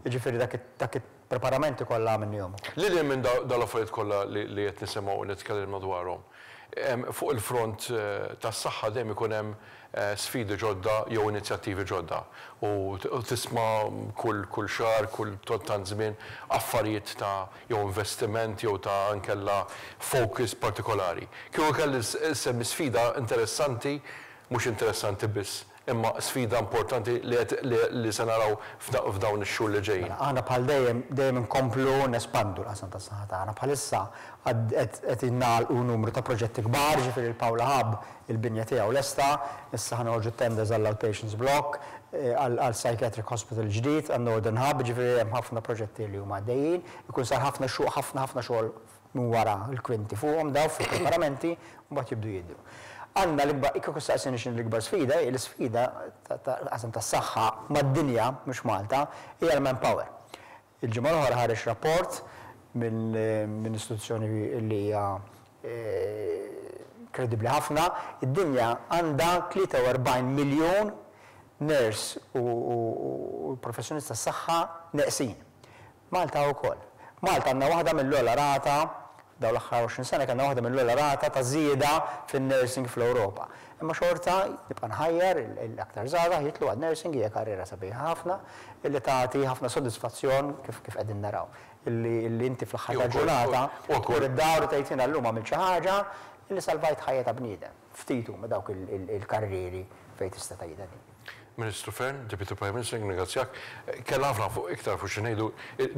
jiġifieri dak il-preparamenti kollha għamilnihom ukoll. Lil hinn minn dawn l-affarijiet kollha li qed nisimgħu u li tkellimna dwarhom, fuq il-front tas-saħħa dejjem ikun hemm sfidi ġodda jew inizjattivi ġodda u tisma' kull kull xahar, kull tant żmien affarijiet ta' jew investiment jew ta' inkella focus partikolari. Kieku kelli nsemmi sfida interessanti, mhux interessanti biss, imma sfida importanti li qed li se naraw f'dawn ix-xhur li ġejjin. Mela, aħna bħal dejjem, dejjem inkomplu nespandu l-qasam tas-saħħa tagħna. Bħalissa qed qed nagħlqu numru ta' proġetti kbar, ġifieri l-Paola Hub, il-binja tiegħu lesta, issa ħa noħorġu t-tenders għall-outpatients block, għal psychiatric hospital ġdid, għan-Northern Hub, jiġifieri hemm ħafna proġetti li huma għaddejjin. Ikun sar ħafna xogħol, ħafna ħafna xogħol minn wara l-kwinti fuqhom dawn fil-preparamenti u mbagħad jibdu jidhru. Għandna l-ikbar, kieku ssaqsini x'inhi l-ikbar sfida, hi l-isfida tal-qasam tas-saħħa mad-dinja, mhux Malta, hija l-manpower. Il-ġimgħa l-oħra ħareġ rapport minn istituzzjoni li hija kredibbli ħafna, id-dinja għandha 43 miljun nurse u professjonist tas-saħħa neqsin. Malta wkoll. Malta għandna waħda mill-ogħla rata, f'dawn l-aħħar 20 sena kellna waħda mill-ogħla rata ta' żieda fin-nursing fl-Ewropa. Imma xorta nibqa' nħajjar l-aktar żgħażagħ jidħlu għan-nursing, hija karriera sabiħa ħafna illi tagħti ħafna sodisfazzjon kif kif qegħdin naraw. Illi illi inti fl-aħħar tal-ġurnata tmur id-dar u tgħid jiena llum għamilt xi ħaġa. Illi salvajt ħajja ta' bniedem. Ftit huma dawk il-karrieri fejn tista' tgħidha din. Ministru Fearne, Deputy Prime Minister, nirringrazzjak. Kellna ħafna fuq iktar fuq xi ngħidu,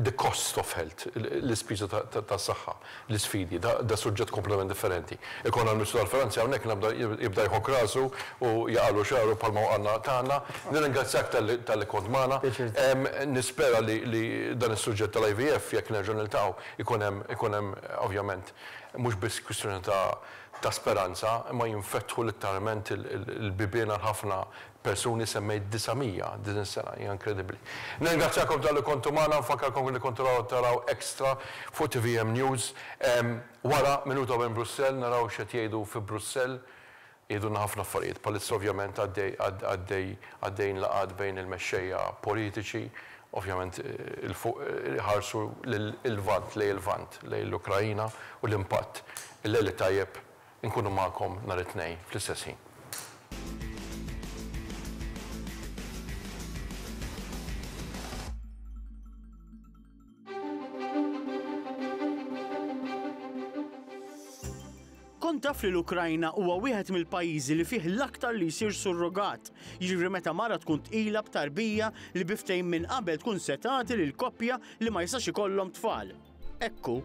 the cost of health, l-ispiża tas-saħħa, l-isfidi, da suġġett kompletament differenti. Ikollna l-Ministru tal-Finanzi hawnhekk nabda jibda jħokk rasu u jaqagħlu xagħru bħalma waqgħalna tagħna. Nirringrazzjak talli kont magħna. Nispera li dan is-suġġett tal-IVF jekk nerġgħu niltaqgħu ikun hemm ikun hemm ovvjament mhux biss kwistjoni ta' ta' speranza imma jinfetħu litteralment il-bibien għal ħafna persuni, semmejt 900 din is-sena, hija inkredibbli. Nirringrazzjakom talli kontu magħna, nfakkarkom li kontu taraw Extra fuq tvm News. Wara Minuta minn Brussell naraw x'qed jgħidu fi Brussell, jgħidulna ħafna affarijiet. Bħalissa ovvjament għaddej għaddej għaddejjin laqgħat bejn il-mexxejja politiċi, ovvjament 'il fuq iħarsu lil-Lvant, lejn il-Lvant, lejn l-Ukraina u l-impatt. Il-lejl it-tajjeb, inkunu magħkom nhar it-Tnejn fl-istess ħin. Kont taf li l-Ukrajna huwa wieħed mill-pajjiżi li fih l-aktar li jsir surrogat, jiġifieri meta mara tkun tqila b'tarbija li bi ftehim minn qabel tkun se tagħti lil koppja li ma jistax ikollhom tfal. Hekk hu,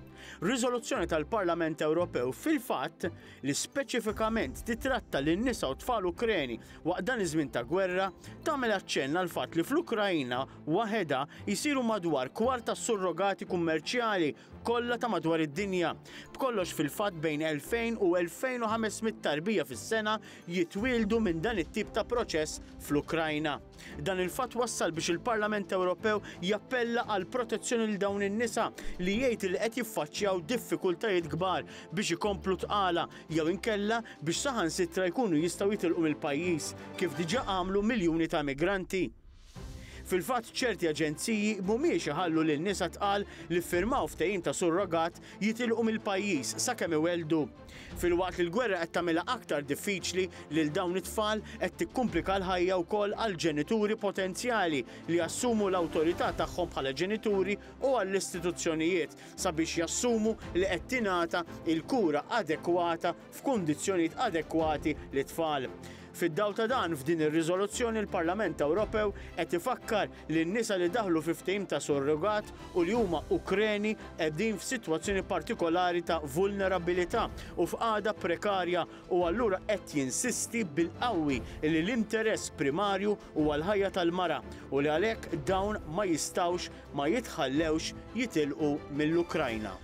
riżoluzzjoni tal-Parlament Ewropew fil-fatt li speċifikament titratta lin-nisa u tfal Ukreni waqt dan iż-żmien ta' gwerra, tagħmel aċċenn għall-fatt li fl-Ukrajna waħedha jsiru madwar kwart tas-surrogati kummerċjali kollha ta' madwar id-dinja. B'kollox fil-fatt bejn 2,000 u 2,500 tarbija fis-sena jitwieldu minn dan it-tip ta' proċess fl-Ukrajna. Dan il-fatt wassal biex il-Parlament Ewropew jappella għal protezzjoni lil dawn in-nisa li jgħid li qed jiffaċċjaw diffikultajiet kbar biex ikomplu tqala jew inkella biex saħansitra jkunu jistgħu jitilqu mill-pajjiż, kif diġà għamlu miljuni ta' migranti. Fil-fatt ċerti aġenziji mhumiex iħallu lil nisa tqal li ffirmaw ftehim ta' surrogat jitilqu mill-pajjiż sakemm iwelldu. Filwaqt li l-gwerra qed tagħmilha aktar diffiċli lil dawn it-tfal qed tikkumplika l-ħajja wkoll għall-ġenituri potenzjali li jassumu l-awtorità tagħhom bħala ġenituri u għall-istituzzjonijiet sabiex jassumu li qed tingħata l-kura adekwata f'kundizzjonijiet adekwati lit-tfal. Fid-dawl ta' dan, f'din ir-riżoluzzjoni l-Parlament Ewropew qed ifakkar li n-nisa li daħlu fi ftehim ta' surrogat u li huma Ukreni qegħdin f'sitwazzjoni partikolari ta' vulnerabilità u f'qagħda prekarja u allura qed jinsisti bil-qawwi li l-interess primarju huwa l-ħajja tal-mara u li għalhekk dawn ma jistgħux ma jitħallewx jitilqu mill-Ukrajna.